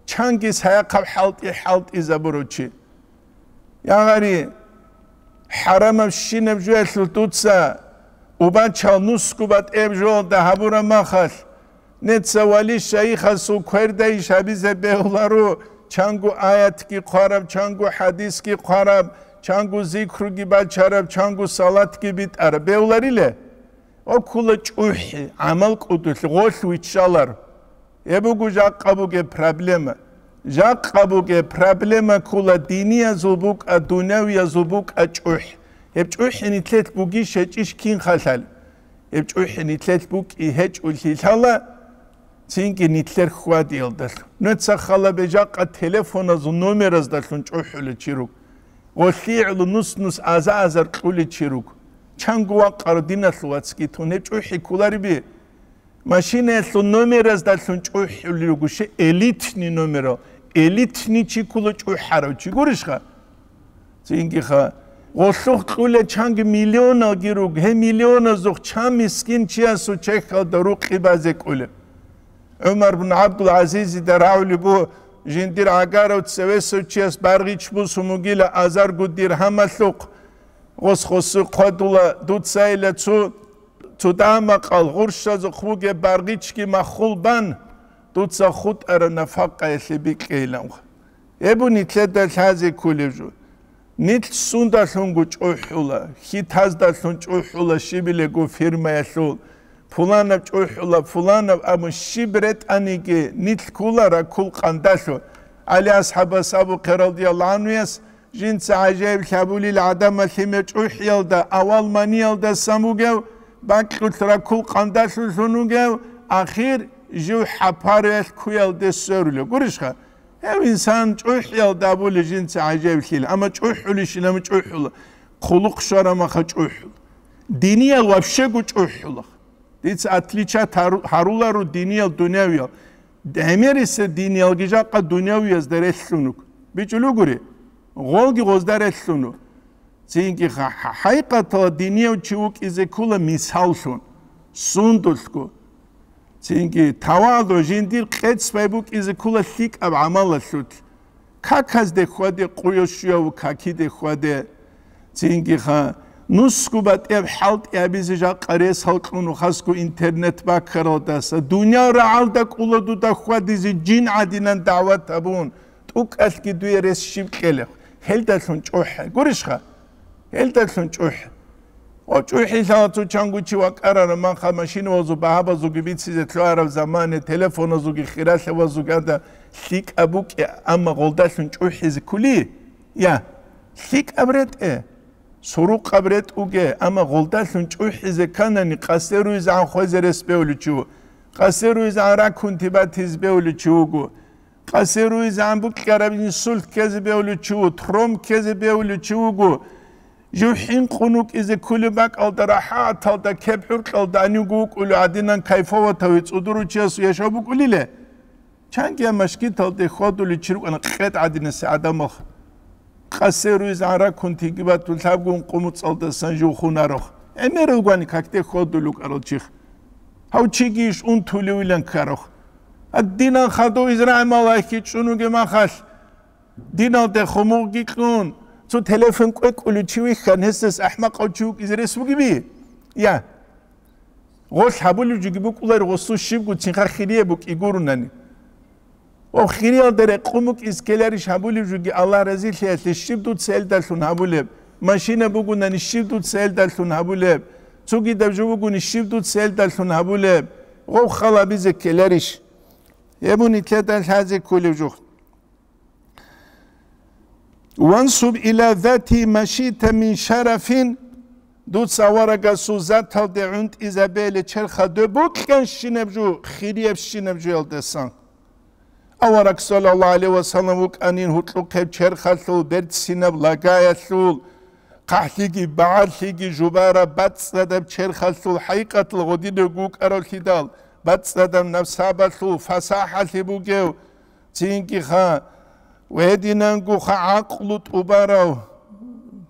чанги саяхъаб хӀалтӀи хӀалтӀизабурав чи. Я гъари, хӀарамаб щинаб жоялъул дуца убачал нусгу батӀеб жоялда гьабураб махалъ, неца вали шайихасул квердайищ гьабизе бегьуларо, чанго аятги хъвараб, чанго хӀадисги хъвараб, чанго зикруги бачараб, чанго салатги битӀараб бегьулариле? Окула чӀухӀи, гӀамал кӀудулъ, гъолъ виччалар. Гьеб буго жакъа бугеб проблема. Жакъа бугеб проблема ккола диниязул букӀа, дунявиязул букӀа чӀухӀ. Гьеб чӀухӀи нилъелъ бугищ гьечӀищ кин халал? Гьеб чӀухӀи нилъелъ букӀи гьечӀулъи лъала, цинги нилъер хьвадиялдалъун. Нуца хала бежакъа телефоназул номераздалъун чӀухӀулев чи руго. ГъолъигӀлу нус-нус аза-азар кьулев чи руго. Чанго вакъаро диналъул вацги тун гьеб чӀухӀи кколариби? Машинаялъул номераздалъун чӀухӀулел руго, щай элитный номерал, элитный чи ккола чӀухӀарав чи гурищха? Цинги ха, гъолъухъ кьула чанги миллионалги руго, гьеб миллионазухъ чан мискин чиясул чехьалда рукъи базе кӀула. ГӀумар бун ГӀабдул-ГӀазизида рагӀулеб буго, жиндир гӀагарав цевесев чияс баргъич бусун бугила азарго диргьамалъухъ, гъос-гъосу хъвадула, дуцайила цо, цо дамакъал гъурщазухъ бугеб баргъичги маххул бан, дуца хутӀараб нафакъаялъе бикьейилан. Гьеб нилъеда лъазе кколеб жо. Нилъ сундалъунго чӀухӀула, хьитаздалъун чӀухӀула щибилего фирмаялъул, пуланаб чӀухӀула, пуланаб абун щиб ретӀаниги нилъ ккула ракул къандалъун. ГӀали асхӀабас абухъе радияллагьу гӀанхуяс, жинца гӀажаиблъи гьабулел гӀадамал лъимер чӀухӀиялда, авал маниялдасан вугев, бакьулъ ракул къандалъулъун вугев, ахир жив хӀапаруялъ ккуялде сверулев. Гурищха? Гьев инсан чӀухӀиялда абулеб жинца гӀажаиблъила, амма чӀухӀулищила, амма чӀухӀула. Хъулухъ щвараб маха чӀухӀула. Диниял вообще-го чӀухӀула. Дица отличать гьару-, гьаруларо диниял дунявиял. ГӀемерисеб диниялги жакъа дунявиязда релълъун руго. БичӀулев гури, гъолги гъозда релълъун руго. Цинги ха-, ха-, хӀакъикъаталда динияв чи вукӀизе ккола мисаллъун, сундулъго. Цинги таваду жиндир къецӀ бай букӀизе ккола лъикӀаб гӀамалалъулъ. Каказде хьваде, къуялъ щуяв какиде хьваде. Цинги ха, нусго батӀияб хӀалтӀи гьабизе жакъа рес гьалкьун хасго интернет баккаралдаса, дуниял рагӀалда кӀула дуда хьвадизе жин гӀадинан дагӀват гьабун, тӀукӀалъги дуе рес щиб кьелеб, гьелдалъун чӀухӀе. Гурищха? Гьелдалъун чӀухӀ. Ва чӀухӀи лъала цо чанго чи вакӀарараб маха машинавазул багьабазулги бицизе лъугьараб замане, телефоназулги хиралъавазулги ада лъикӀаб букӀи, амма гъолдалъун чӀухӀизе ккули? Я, лъикӀаб ретӀе, сурукъаб ретӀуге, амма гъолдалъун чӀухӀизе кканани, къасе руйзегӀан хвезе рес бевличи ву, къасе руйзегӀан ракунти батизе бевличи вуго. Къасе руйзегӀан букӀараб инсульт ккезе бевличи ву, тромб ккезе бевличи вуго. Жив хӀинкъун вукӀизе кколеб бакӀалда рахӀаталда кеб гӀуркьалда гьанивго вукӀулев гӀадинан кайфоватав цӀудурав чиясул яшав букӀулиле? Чангия машгиталде хьвадулев чи рукӀана къед гӀадинасе гӀадамал. Къасе руйзегӀан ракунтиги батун, лъабгун къумуцӀалдасан жив хунарох. ГӀемерал гвани какде хьвадулев вукӀарал чих. Гьав чиги иш унтулевилан ккарох. Гьадинан хадув Израил малаикги чӀунуге махалъ, диналде хумугъги кьун, цо телефон кӀвекӀулев чи вихьан, гьесдас ахӀмакъав чи вукӀизе рес бугеби? Я. Гъолъ гьабулев жуги букӀулари гъосул щибго цинха хирияб букӀи гурунани. Ва хириялда рекъун букӀиз ккеларищ гьабулев жуги Аллагь разилъиялъе щиб дуца гьелдалъун гьабулеб? Машина бугунани щиб дуца гьелдалъун гьабулеб? Цогидаб жо бугони щиб дуца гьелдалъун гьабулеб? Гъов хал абизе ккеларищ? Гьеб нилъеда лъазе кколев жо. Вансуб иля зати машита мин шарафин, дуца аварагасул заталде гӀунтӀизабейилан черха доб букӀанщинаб жо, хириябщинаб жоялдасан. Авараг, саллаллагьу гӀалайгьи ва саллам, вукӀанин гьоркьохъеб черхалъул, берцинаб лагаялъул, хъахӀлъиги багӀалъиги жубараб бацӀцӀадаб черхалъул, хӀакъикъаталда гъодинав вукӀаравлъидал, бацӀцӀадаб насабалъул, фасахӀалъи бугев, цинги ха, гьединанго ха гӀакълу тӀубарав,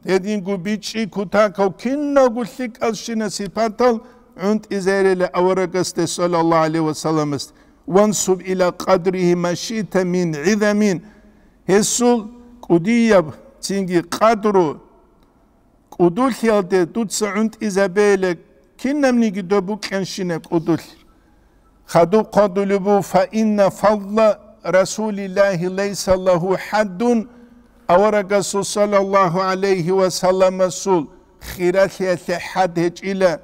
гьединго бичӀчӀи кутакав, киналго лъикӀалщина сипатал гӀунтӀизейилан аварагасде, саллаллагьу гӀалайгьи ва салламасде. Вансуб иля къадригьи машита мин гӀизамин, гьесул кӀудияб цинги къадру, кӀудулъиялде дуца гӀунтӀизабейилан кинабниги доб букӀанщинаб кӀудулъ. Хадуб хъвадулеб буго, фа инна фадла Расулиллагьи лайса лагьу хӀаддун, аварагасул, саллаллагьу гӀалайгьи ва салламасул, хиралъиялъе хӀад гьечӀила,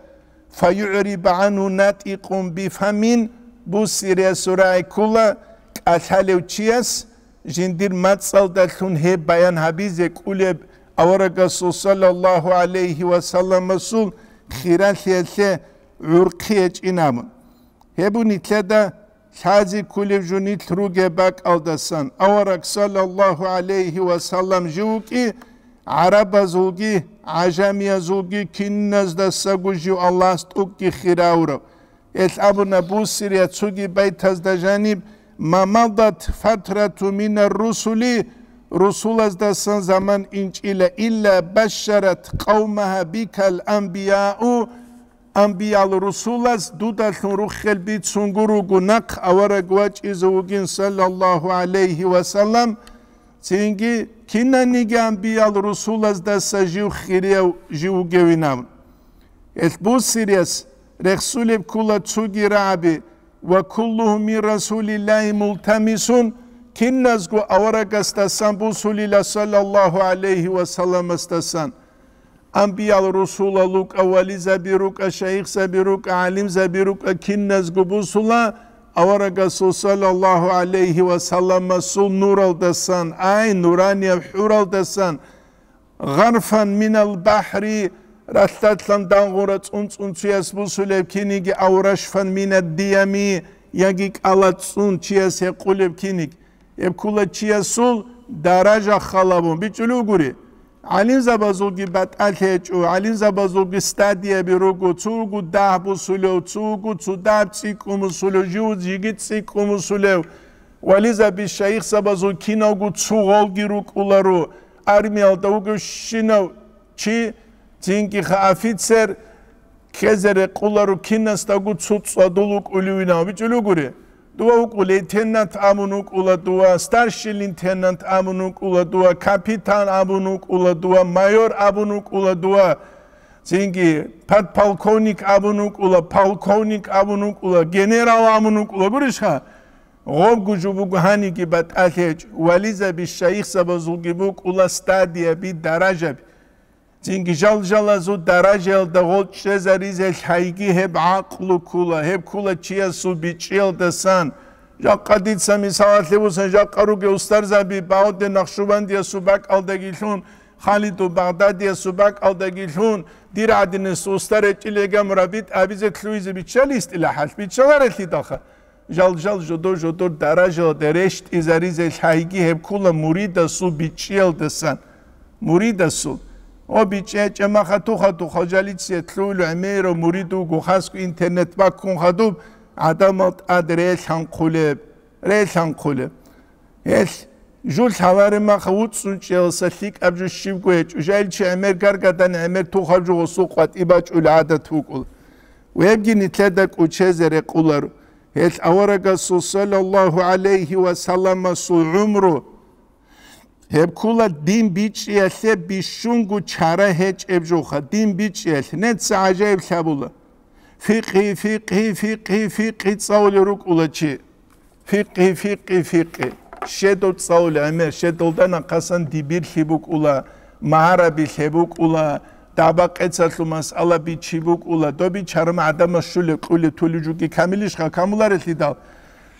фаюгӀрибу гӀангьу натӀикъун бифамин, бусириялъул рагӀи ккола кӀалъалев чияс, жиндир мацӀалдалъун гьеб баян гьабизе кӀолеб аварагасул саллаллагьу гӀалайгьи ва салламасул хиралъиялъе гӀурхъи гьечӀин абун. Гьеб нилъеда лъазе кколеб жо нилъ ругеб бакӀалдасан, авараг саллаллагьу гӀалайгьи ва саллам жив вукӀи, гӀарабазулги, гӀажамиязулги киназдасаго жив Аллагьас тӀокӀги хиравурав. Гьелъ абуна Бусирияс цоги байтазда жаниб: «Ма мадат фатрату минар русули», русулаздасан заман инчӀила, «илла башшарат къавмаха бикал анбияу», амбиял русулаз дудалъун руххел бицунго руго нахъ авараг вачӀизе вугин, саллаллагьу гӀалайгьи ва саллам, цинги кинаниги амбиял русулаздаса жив хирияв жив вугевинав. Гьелъ Бусирияс рехсулеб ккола цоги рагӀаби: «Ва куллугьум мин Расулиллагьи мултамисун», киназго аварагасдасан бусулила, саллаллагьу гӀалайгьи ва салламасдасан. Амбиял русулал рукӀа, вализаби рукӀа, шайихзаби рукӀа, гӀалимзаби рукӀа, киназго бусула аварагасул саллаллагьу гӀалайгьи ва салламасул нуралдасан, ай, нуранияб хӀуралдасан, «Гъарфан минал бахӀри», ралъдалъан дагъура цӀун-цӀун чияс бусулеб киниги, «ав рашфан минад диями», яги кӀалацӀцӀун чияс гьекъулеб киниг. Гьеб ккола чиясул даража халабун бичӀчӀулев гури. ГӀалимзабазулги батӀалъи гьечӀо, гӀалимзабазулги стадияби руго, цо вуго дагь бусулев, цо вуго цо дагь цӀикӀкӀун бусулев, жив жиги цӀикӀкӀун бусулев. Вализаби шайихзабазул киналго цо гъолги рукӀуларо, армиялда вугевщинав чи, цинги-ха офицер, ккезе рекъуларо кинасдаго цо цӀадул вукӀулевинав бичӀчӀулев гури. Дова вукӀу лейтенант абун вукӀула дова, старший лейтенант абун вукӀула дова, капитан абун вукӀула дова, майор абун вукӀула дова, цинги подполковник абун вукӀула, полковник абун вукӀула, генерал абун вукӀула, гурищха? Гъобго жо буго гьаниги батӀалъи гьечӀо, вализаби шайихзабазулги букӀула стадияби, даражаби. Цинги жал-жалазул даражаялда гъол чӀезаризе лъайги гьеб гӀакълу ккула, гьеб ккула чиясул бичӀчӀиялдасан. Жакъа дица мисалалъе бусан, жакъа ругел устарзаби Багьудин Нахшубандиясул бакӀалдагилъун, Халидул Багъдадиясул бакӀалдагилъун, дир гӀадинасул устар гьечӀилеган мураббит абизе лъугьизе биччали истилахӀалъ, биччаларелъидалха. Жал-жал жодор-жодор даражалда рещтӀизаризе лъайги гьеб ккула муридасул бичӀчӀиялдасан. Муридасул. О, бичӀчӀи гьечӀеб махатухъа-тухъа жалицият лъугьулев гӀемерав мурид вуго, хасго интернет баккун хадуб, гӀадамал тӀад релъанхъулеб, релъанхъулеб. Гьелъ жул лъалареб маха вуцӀцӀун чӀеялса лъикӀаб жо щибго гьечӀо, жайилчи гӀемер гаргадани гӀемер тухаб жо гъосул къватӀи бачӀул гӀадат букӀула. Вебги нилъеда кӀучезе рекъуларо. Гьелъ аварагасул саллаллагьу гӀалайгьи ва салламасул гӀумру гьеб ккула дин бичӀчӀиялъе бищунго чара гьечӀеб жоха, дин бичӀчӀиялъе. Неца гӀажаиблъи гьабула. Фикъи, фикъи, фикъи, фикъи цӀалулел рукӀула чи. Фикъи, фикъи, фикъи. Щедо цӀалулел гӀемер, щедолда нахъасан дибирлъи букӀула, магьарабилъи букӀула, дагьба-къецалъул масъала бичи букӀула, доби чарма гӀадамас щулеб, кьулеб, тулеб жуги камилищха, камуларелъидал.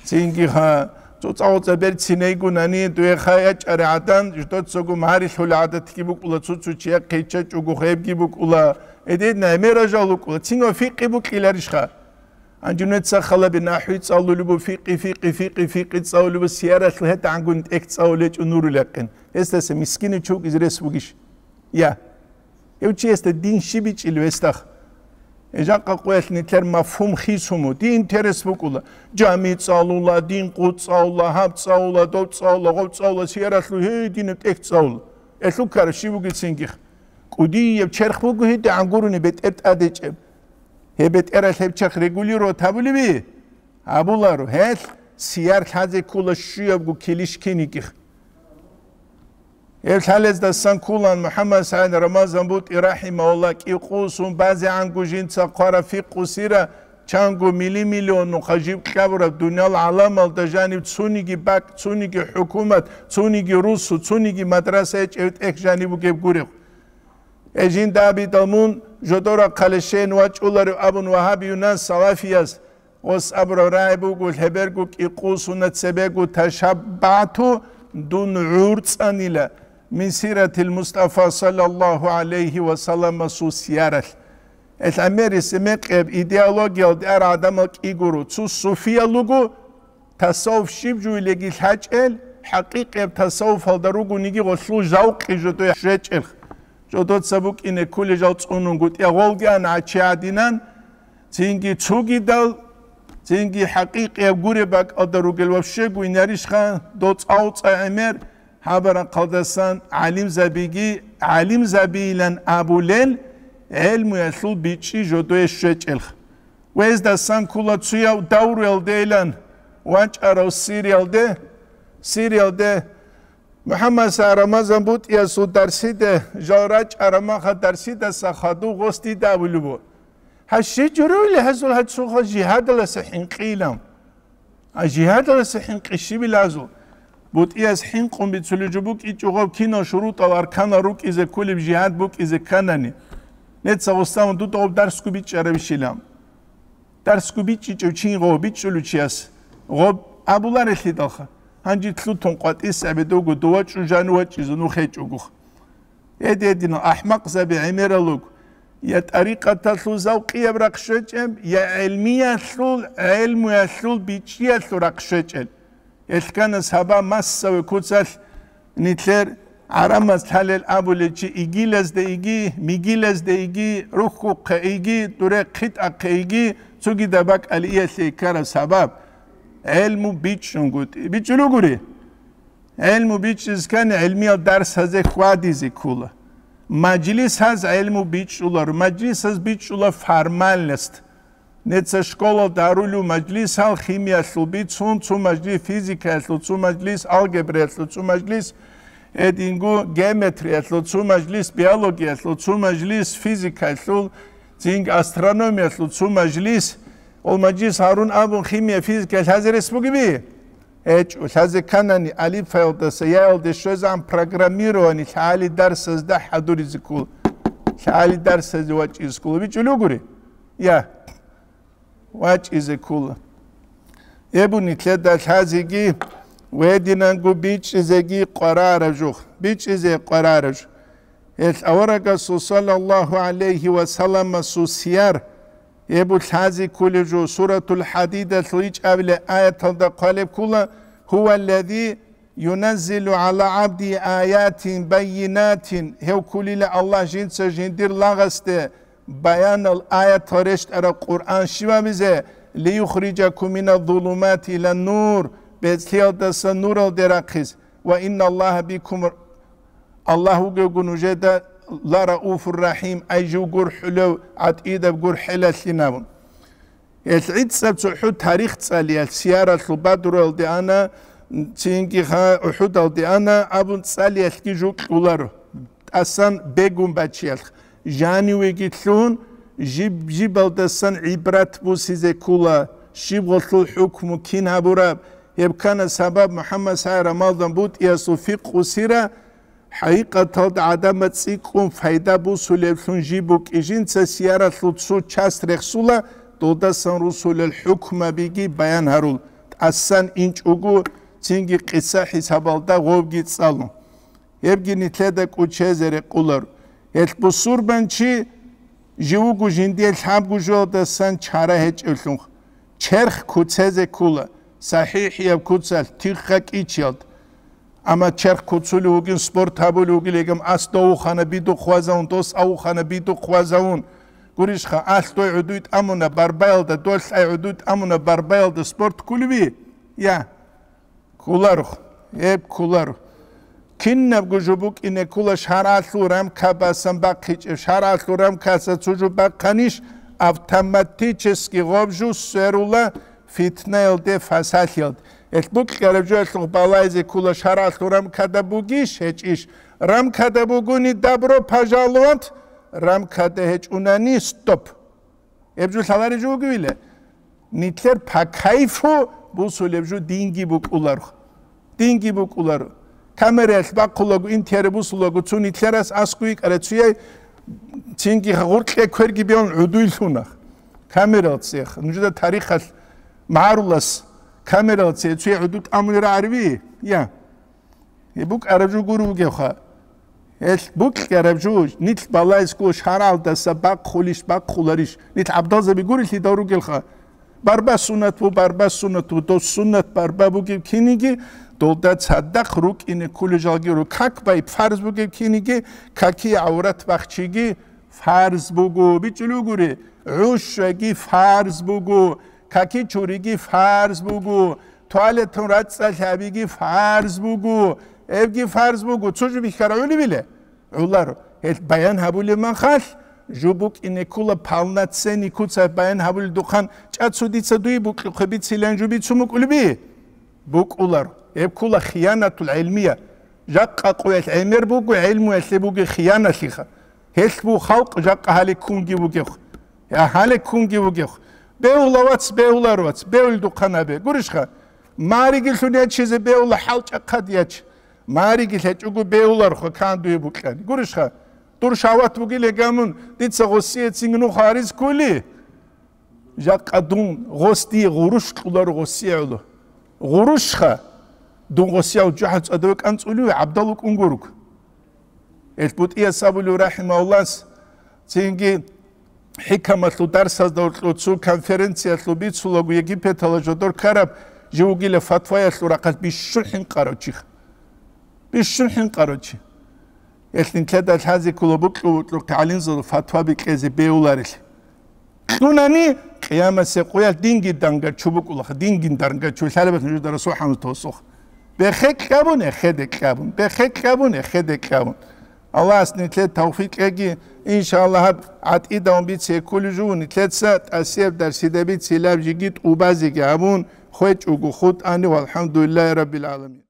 Цинги-ха, цоцӀа-гъоцӀа берцинайгунани, дуе ха ячӀари гӀадан, ждоцаго магьарилъула гӀадатги букӀула, цо-цо чияхъе чачӀого хебги букӀула, эдедна гӀемер ажал букӀула, цинго фикъи букӀиларищха. Гьанже нуца халаби нахӀви цӀалулеб бу, фикъи, фикъи, фикъи, фикъи цӀалулеб бу, сияралъул гьетӀагӀангун тӀехь цӀалулечӀо нурул якъин. Гьесдаса мискинав чи вукӀизе рес бугищ? Я. Гьев чиясда дин щиб бичӀчӀилев гьесдахъ? Гьеб жакъа къоялъ нилъер мафгьум хисуму, дин интерес букӀула. Жами цӀалула, дин къу цӀалула, гьаб цӀалула, доб цӀалула, гъоб цӀалула, сияралъул гьединаб тӀехь цӀалула. Элъул ккараб щиб бугецинги? КӀудияб черх буго гьедигӀан гурони бетӀер тӀадечӀеб. Гьеб бетӀералъ гьеб черх регулировать гьабулеби? Гьабуларо. Гьелъ сияр лъазе ккола щуябго килищ кинигих. Гьеб лъалездасан кколан МухӀаммад СагӀид Рамазан БутӀи рахӀимагьуллагь кӀикъусун базегӀанго жинца хъвараб фикъу сира, чанго мили-миллионнухъа жиб кьабураб дуниял гӀаламалда жаниб цониги бакӀ, цониги хӀукумат, цониги русу, цониги мадраса гьечӀев тӀехь жаниб бугеб гуреб. Гьеб жинда абидал мун жодорахъале щейин вачӀуларев абун вагьабиюнас салафияс гъос абураб рагӀи буго, лъеберго кӀикъусуна цебего ташаббагӀту, дун гӀурцӀанила. мин сиратил Мустафа саллаллаху гӀалайхи ва салламасул сияралъ. Гьел гӀемерисеб мекъияб идеологиялде ара гӀадамал кӀи гуро. Цо суфиял руго, тасаввуф щиб жуйилеги лъачӀел, хӀакъикъияб тасаввуфалда ругониги гъолъул жавкъи жодое щвечӀел. Жодоца букӀине кколел жал цӀунунгутӀи, гъолги ан гӀачи гӀадинан, цинги цогидал, цинги хӀакъикъияб гуреб бакӀалда ругел вообще гуйнарищха, дол цӀа-цӀа гӀемер, гьаб рахъалдасан гӀалимзабиги, гӀалимзабийилан абулел гӀелмуялъул бичӀчӀи жодое щвечӀелха. Гьездасан ккола цояв давруялдейилан вачӀарав Сириялде, Сириялде МухӀаммад СагӀид Рамазан БутӀиясул дарсиде жал рачӀараб маха дарсидаса хадув гъос дида абулеб буго: «Гьа, щи журавили гьазул гьачӀуха жигьадаласа хӀинкъийилан?» А жигьадаласа хӀинкъи щибила гьазул? БутӀияс хӀинкъун бицулеб жо букӀичӀо гъаб кинал шурутӀал арканал рукӀизе кколеб жигьад букӀизе кканани. Неца гъосамун дуда гъаб дарсго бичӀчӀарабищила. Дарсго бичӀчӀичӀев чи гъо бичӀчӀулев чияс гъоб абуларелъидалха, гьанже лъутун къватӀис гӀебедуго дова чӀужан вачӀизе нух гьечӀогуха. Гьедин-гьединал ахӀмакъзаби гӀемерал руго, я тӀарикъаталъул завкъияб рахъ щвечӀеб, я гӀелмиялъул, гӀелмуялъул бичӀчӀиялъул рахъ щвечӀел. Гьелъ ккана сабаб массаве куцалъ нилъер гӀарамаз лъалел абулел чи игилазде иги, мигилазде иги, рухьухъе иги, дуре хъитӀахъе иги, цогидаб бакӀалиялъе ккараб сабаб. ГӀелму бичӀчӀунгутӀи. БичӀчӀулугури? ГӀелму бичӀчӀизе ккани гӀелмиял дарсазе хьвадизе ккола. Мажлисаз гӀелму бичӀчӀуларо, мажлисаз бичӀчӀула формальность. Неца школалда гьарулев мажлисал химиялъул бицун, цо мажлис физикаялъул, цо мажлис алгебраялъул, цо мажлис гьединго геометриялъул, цо мажлис биологиялъул, цо мажлис физикаялъул, цинги астрономиялъул, цо мажлис. Ол мажлис гьарун абун химия, физика лъазе рес бугеби? ГьечӀо, лъазе кканани, алифаялдаса яялде щвезегӀан программирование лъагӀали дарсазда хӀадуризе ккола. ЛъагӀали дарсазе вачӀизе ккола. БичӀчӀулугури? Я, вачӀизе ккола. Гьеб нилъеда лъазеги ва гьединанго бичӀчӀизеги къварараб жух. БичӀчӀизе къварараб жух. Гьелъ аварагасул саллаллаху гӀалайхи ва салламасул сияр, гьеб лъазе кколеб жо, Суратул ХӀадидалъул ичӀабилеб аяталда хъвалеб ккола: «Гьува аллази юназзилу гӀала гӀабдигьи аятин баййинатин», гьев кколила Аллагь жинца жиндир лагъасде баянал аятал рещтӀараб Къуръан щивабизе, «лиюхриджакум миназ-зулумати илан-нур», бецӀлъиялдаса нуралде рахъизе, «ва инналлагьа бикум Аллагь вугевго нужеда ла рауфур рахӀим», ай жив гурхӀулев, гӀатӀидаб гурхӀелалъин абун. Гьелъ гӀицӀаб цохӀо тарих цӀалиялъ, сияралъул Бадруялде ана, цинги ха УхӀудалде ана абун цӀалиялъги жо кьоларо. ТӀасан бегун бачиялъ, жанивеги лъун, жиб-жибалдасан гӀибрат бусизе ккола, щиб гъолъул хӀукму кин гьабураб, гьеб ккана сабаб МухӀаммад СагӀид Рамазан БутӀиясул фикъгьу сира, хӀакъикъаталда гӀадамаз цӀикӀкӀун пайда бусулеблъун жиб букӀи, жинца сияралъул цо часть рехсула, долдасан русулел хӀукмабиги баян гьарул, тӀасан инчӀого цинги къиса-хӀисабалда гъобги цӀалун. Гьебги нилъеда кӀочезе рекъолар. Гьелъ бусурбанчи жив вуго жиндие лъабго жоялдасан чара гьечӀевлъун. Черх куцезе ккола, сахӀихӀияб куцалъ, тихха кӀичиялда. Амма черх куцулев вугин, спорт гьабулев вугилигам, ас довухана бидухъ вазавун, дос авухана бидухъ вазавун. Гурищха, алъ дой гӀудуй тӀамуна барбаялда, долъ ай гӀудуй тӀамуна барбаялда спорт кколеви? Я. Кколаро, гьеб кколаро. Кинабго жо букӀине ккола шаргӀалъул рамкабасан бахъичӀеб. ШаргӀалъул рамкаса цо жо бахъанищ, автоматически гъоб жо сверула фитнаялде, фасалъиялде. Гьелъ букӀараб жоялъухъ балайзе ккола шаргӀалъул рамкада бугищ, гьечӀищ. Рамкада бугони, добро пожаловать, рамкада гьечӀунани, стоп. Гьеб жо лъалареб жо бугевила? Нилъер по кайфу бусулеб жо динги букӀуларо. Динги букӀуларо. Камераялъ бахъулаго, интервью бусулаго, цо нилъерас аскӀов йикӀарай, цояй цинги гъоркье кверги бегьун гӀудуй лъуна. Камералцех, нужеда тарихалъ магӀарулас камералце цояй гӀуду тӀамулел рагӀариби? Я. Гьеб букӀараб жо гуро вугевха. Гьелъ букьараб жо, нилъ балайсго шаргӀалдаса бахъулищ, бахъуларищ, нилъ гӀабдалзаби гурелъидал ругелха. Барба суннат бу, барба суннат бу, дос суннат барба бугеб киниги, долда цадахъ рукӀине кколел жалги ру. Как байб фарз бугеб киниги, каки гӀаврат бахчиги фарз буго. БичӀчӀулев гури, гӀушаги фарз буго, каки чуриги фарз буго, туалетун рацӀцӀалъабиги фарз буго, эбги фарз буго. Цо жо бихьара гӀолебила? ГӀоларо. Гьел баян гьабулеб махалъ, жо букӀине ккола полноценный куцалъ баян гьабулел духъан, чӀа цо дица дуе букьухъе бицилан жо бицун букӀулеби? БукӀуларо. Гьеб ккола хиянатул гӀилмия. Жакъа къоялъ гӀемер буго, гӀилмуялъе буго хияналъиха. Гьелъ бу халкъ жакъа гьале ккунги бугехъ. Я гьале ккунги бугехъ. Бегьула, вац, бегьулар, вац, бегьулел духъан абе. Гурищха? Маригилъун ячизе бегьула, хӀалчӀахъад яч. Мариги лъечӀого бегьуларха кан дуе букьани. Гурищха? Дур шагьват бугиле гамун, дица гъосие цинги нух гьаризккули? Жакъа дун гъос дие гъурущ кьуларо гъосие гӀоло. Гъурущха? Дун гъосияв жужахӀал цӀадаве кӀанцӀулев гӀабдал вукӀун гуруг. Эл БутӀияс абулев рахӀимагьуллас, цинги хӀикамалъул дарсазда гьоркьов цо конференциялъул бицулаго Египеталда жодор ккараб жив вугила фатваялъул рахъалъ бищун хӀинкъарав чи. Бищун хӀинкъарав чи. Эл нилъеда лъазе ккола букьу-букьухъе гӀалимзабазул фатва бикьезе бегьуларелъи. Кьунани, къиямасеб къоялъ динги дангачу букӀулаха, динги дангачу лъалеб нужеда Расул хӀамзат гьосухъ. Бехе кьабун, эхеде кьабун, бехе кьабун, эхеде кьабун. Аллагьас нилъе тавфикъ кьеги, иншааллагь, гьаб гӀатӀидавун бице кколев жугьун, нилъеца тӀасияб дарсида бицилаб жиги тӀубазеги гьабун, хвечӀого хутӀани, валхӀамдулиллагьи раббил гӀаламин.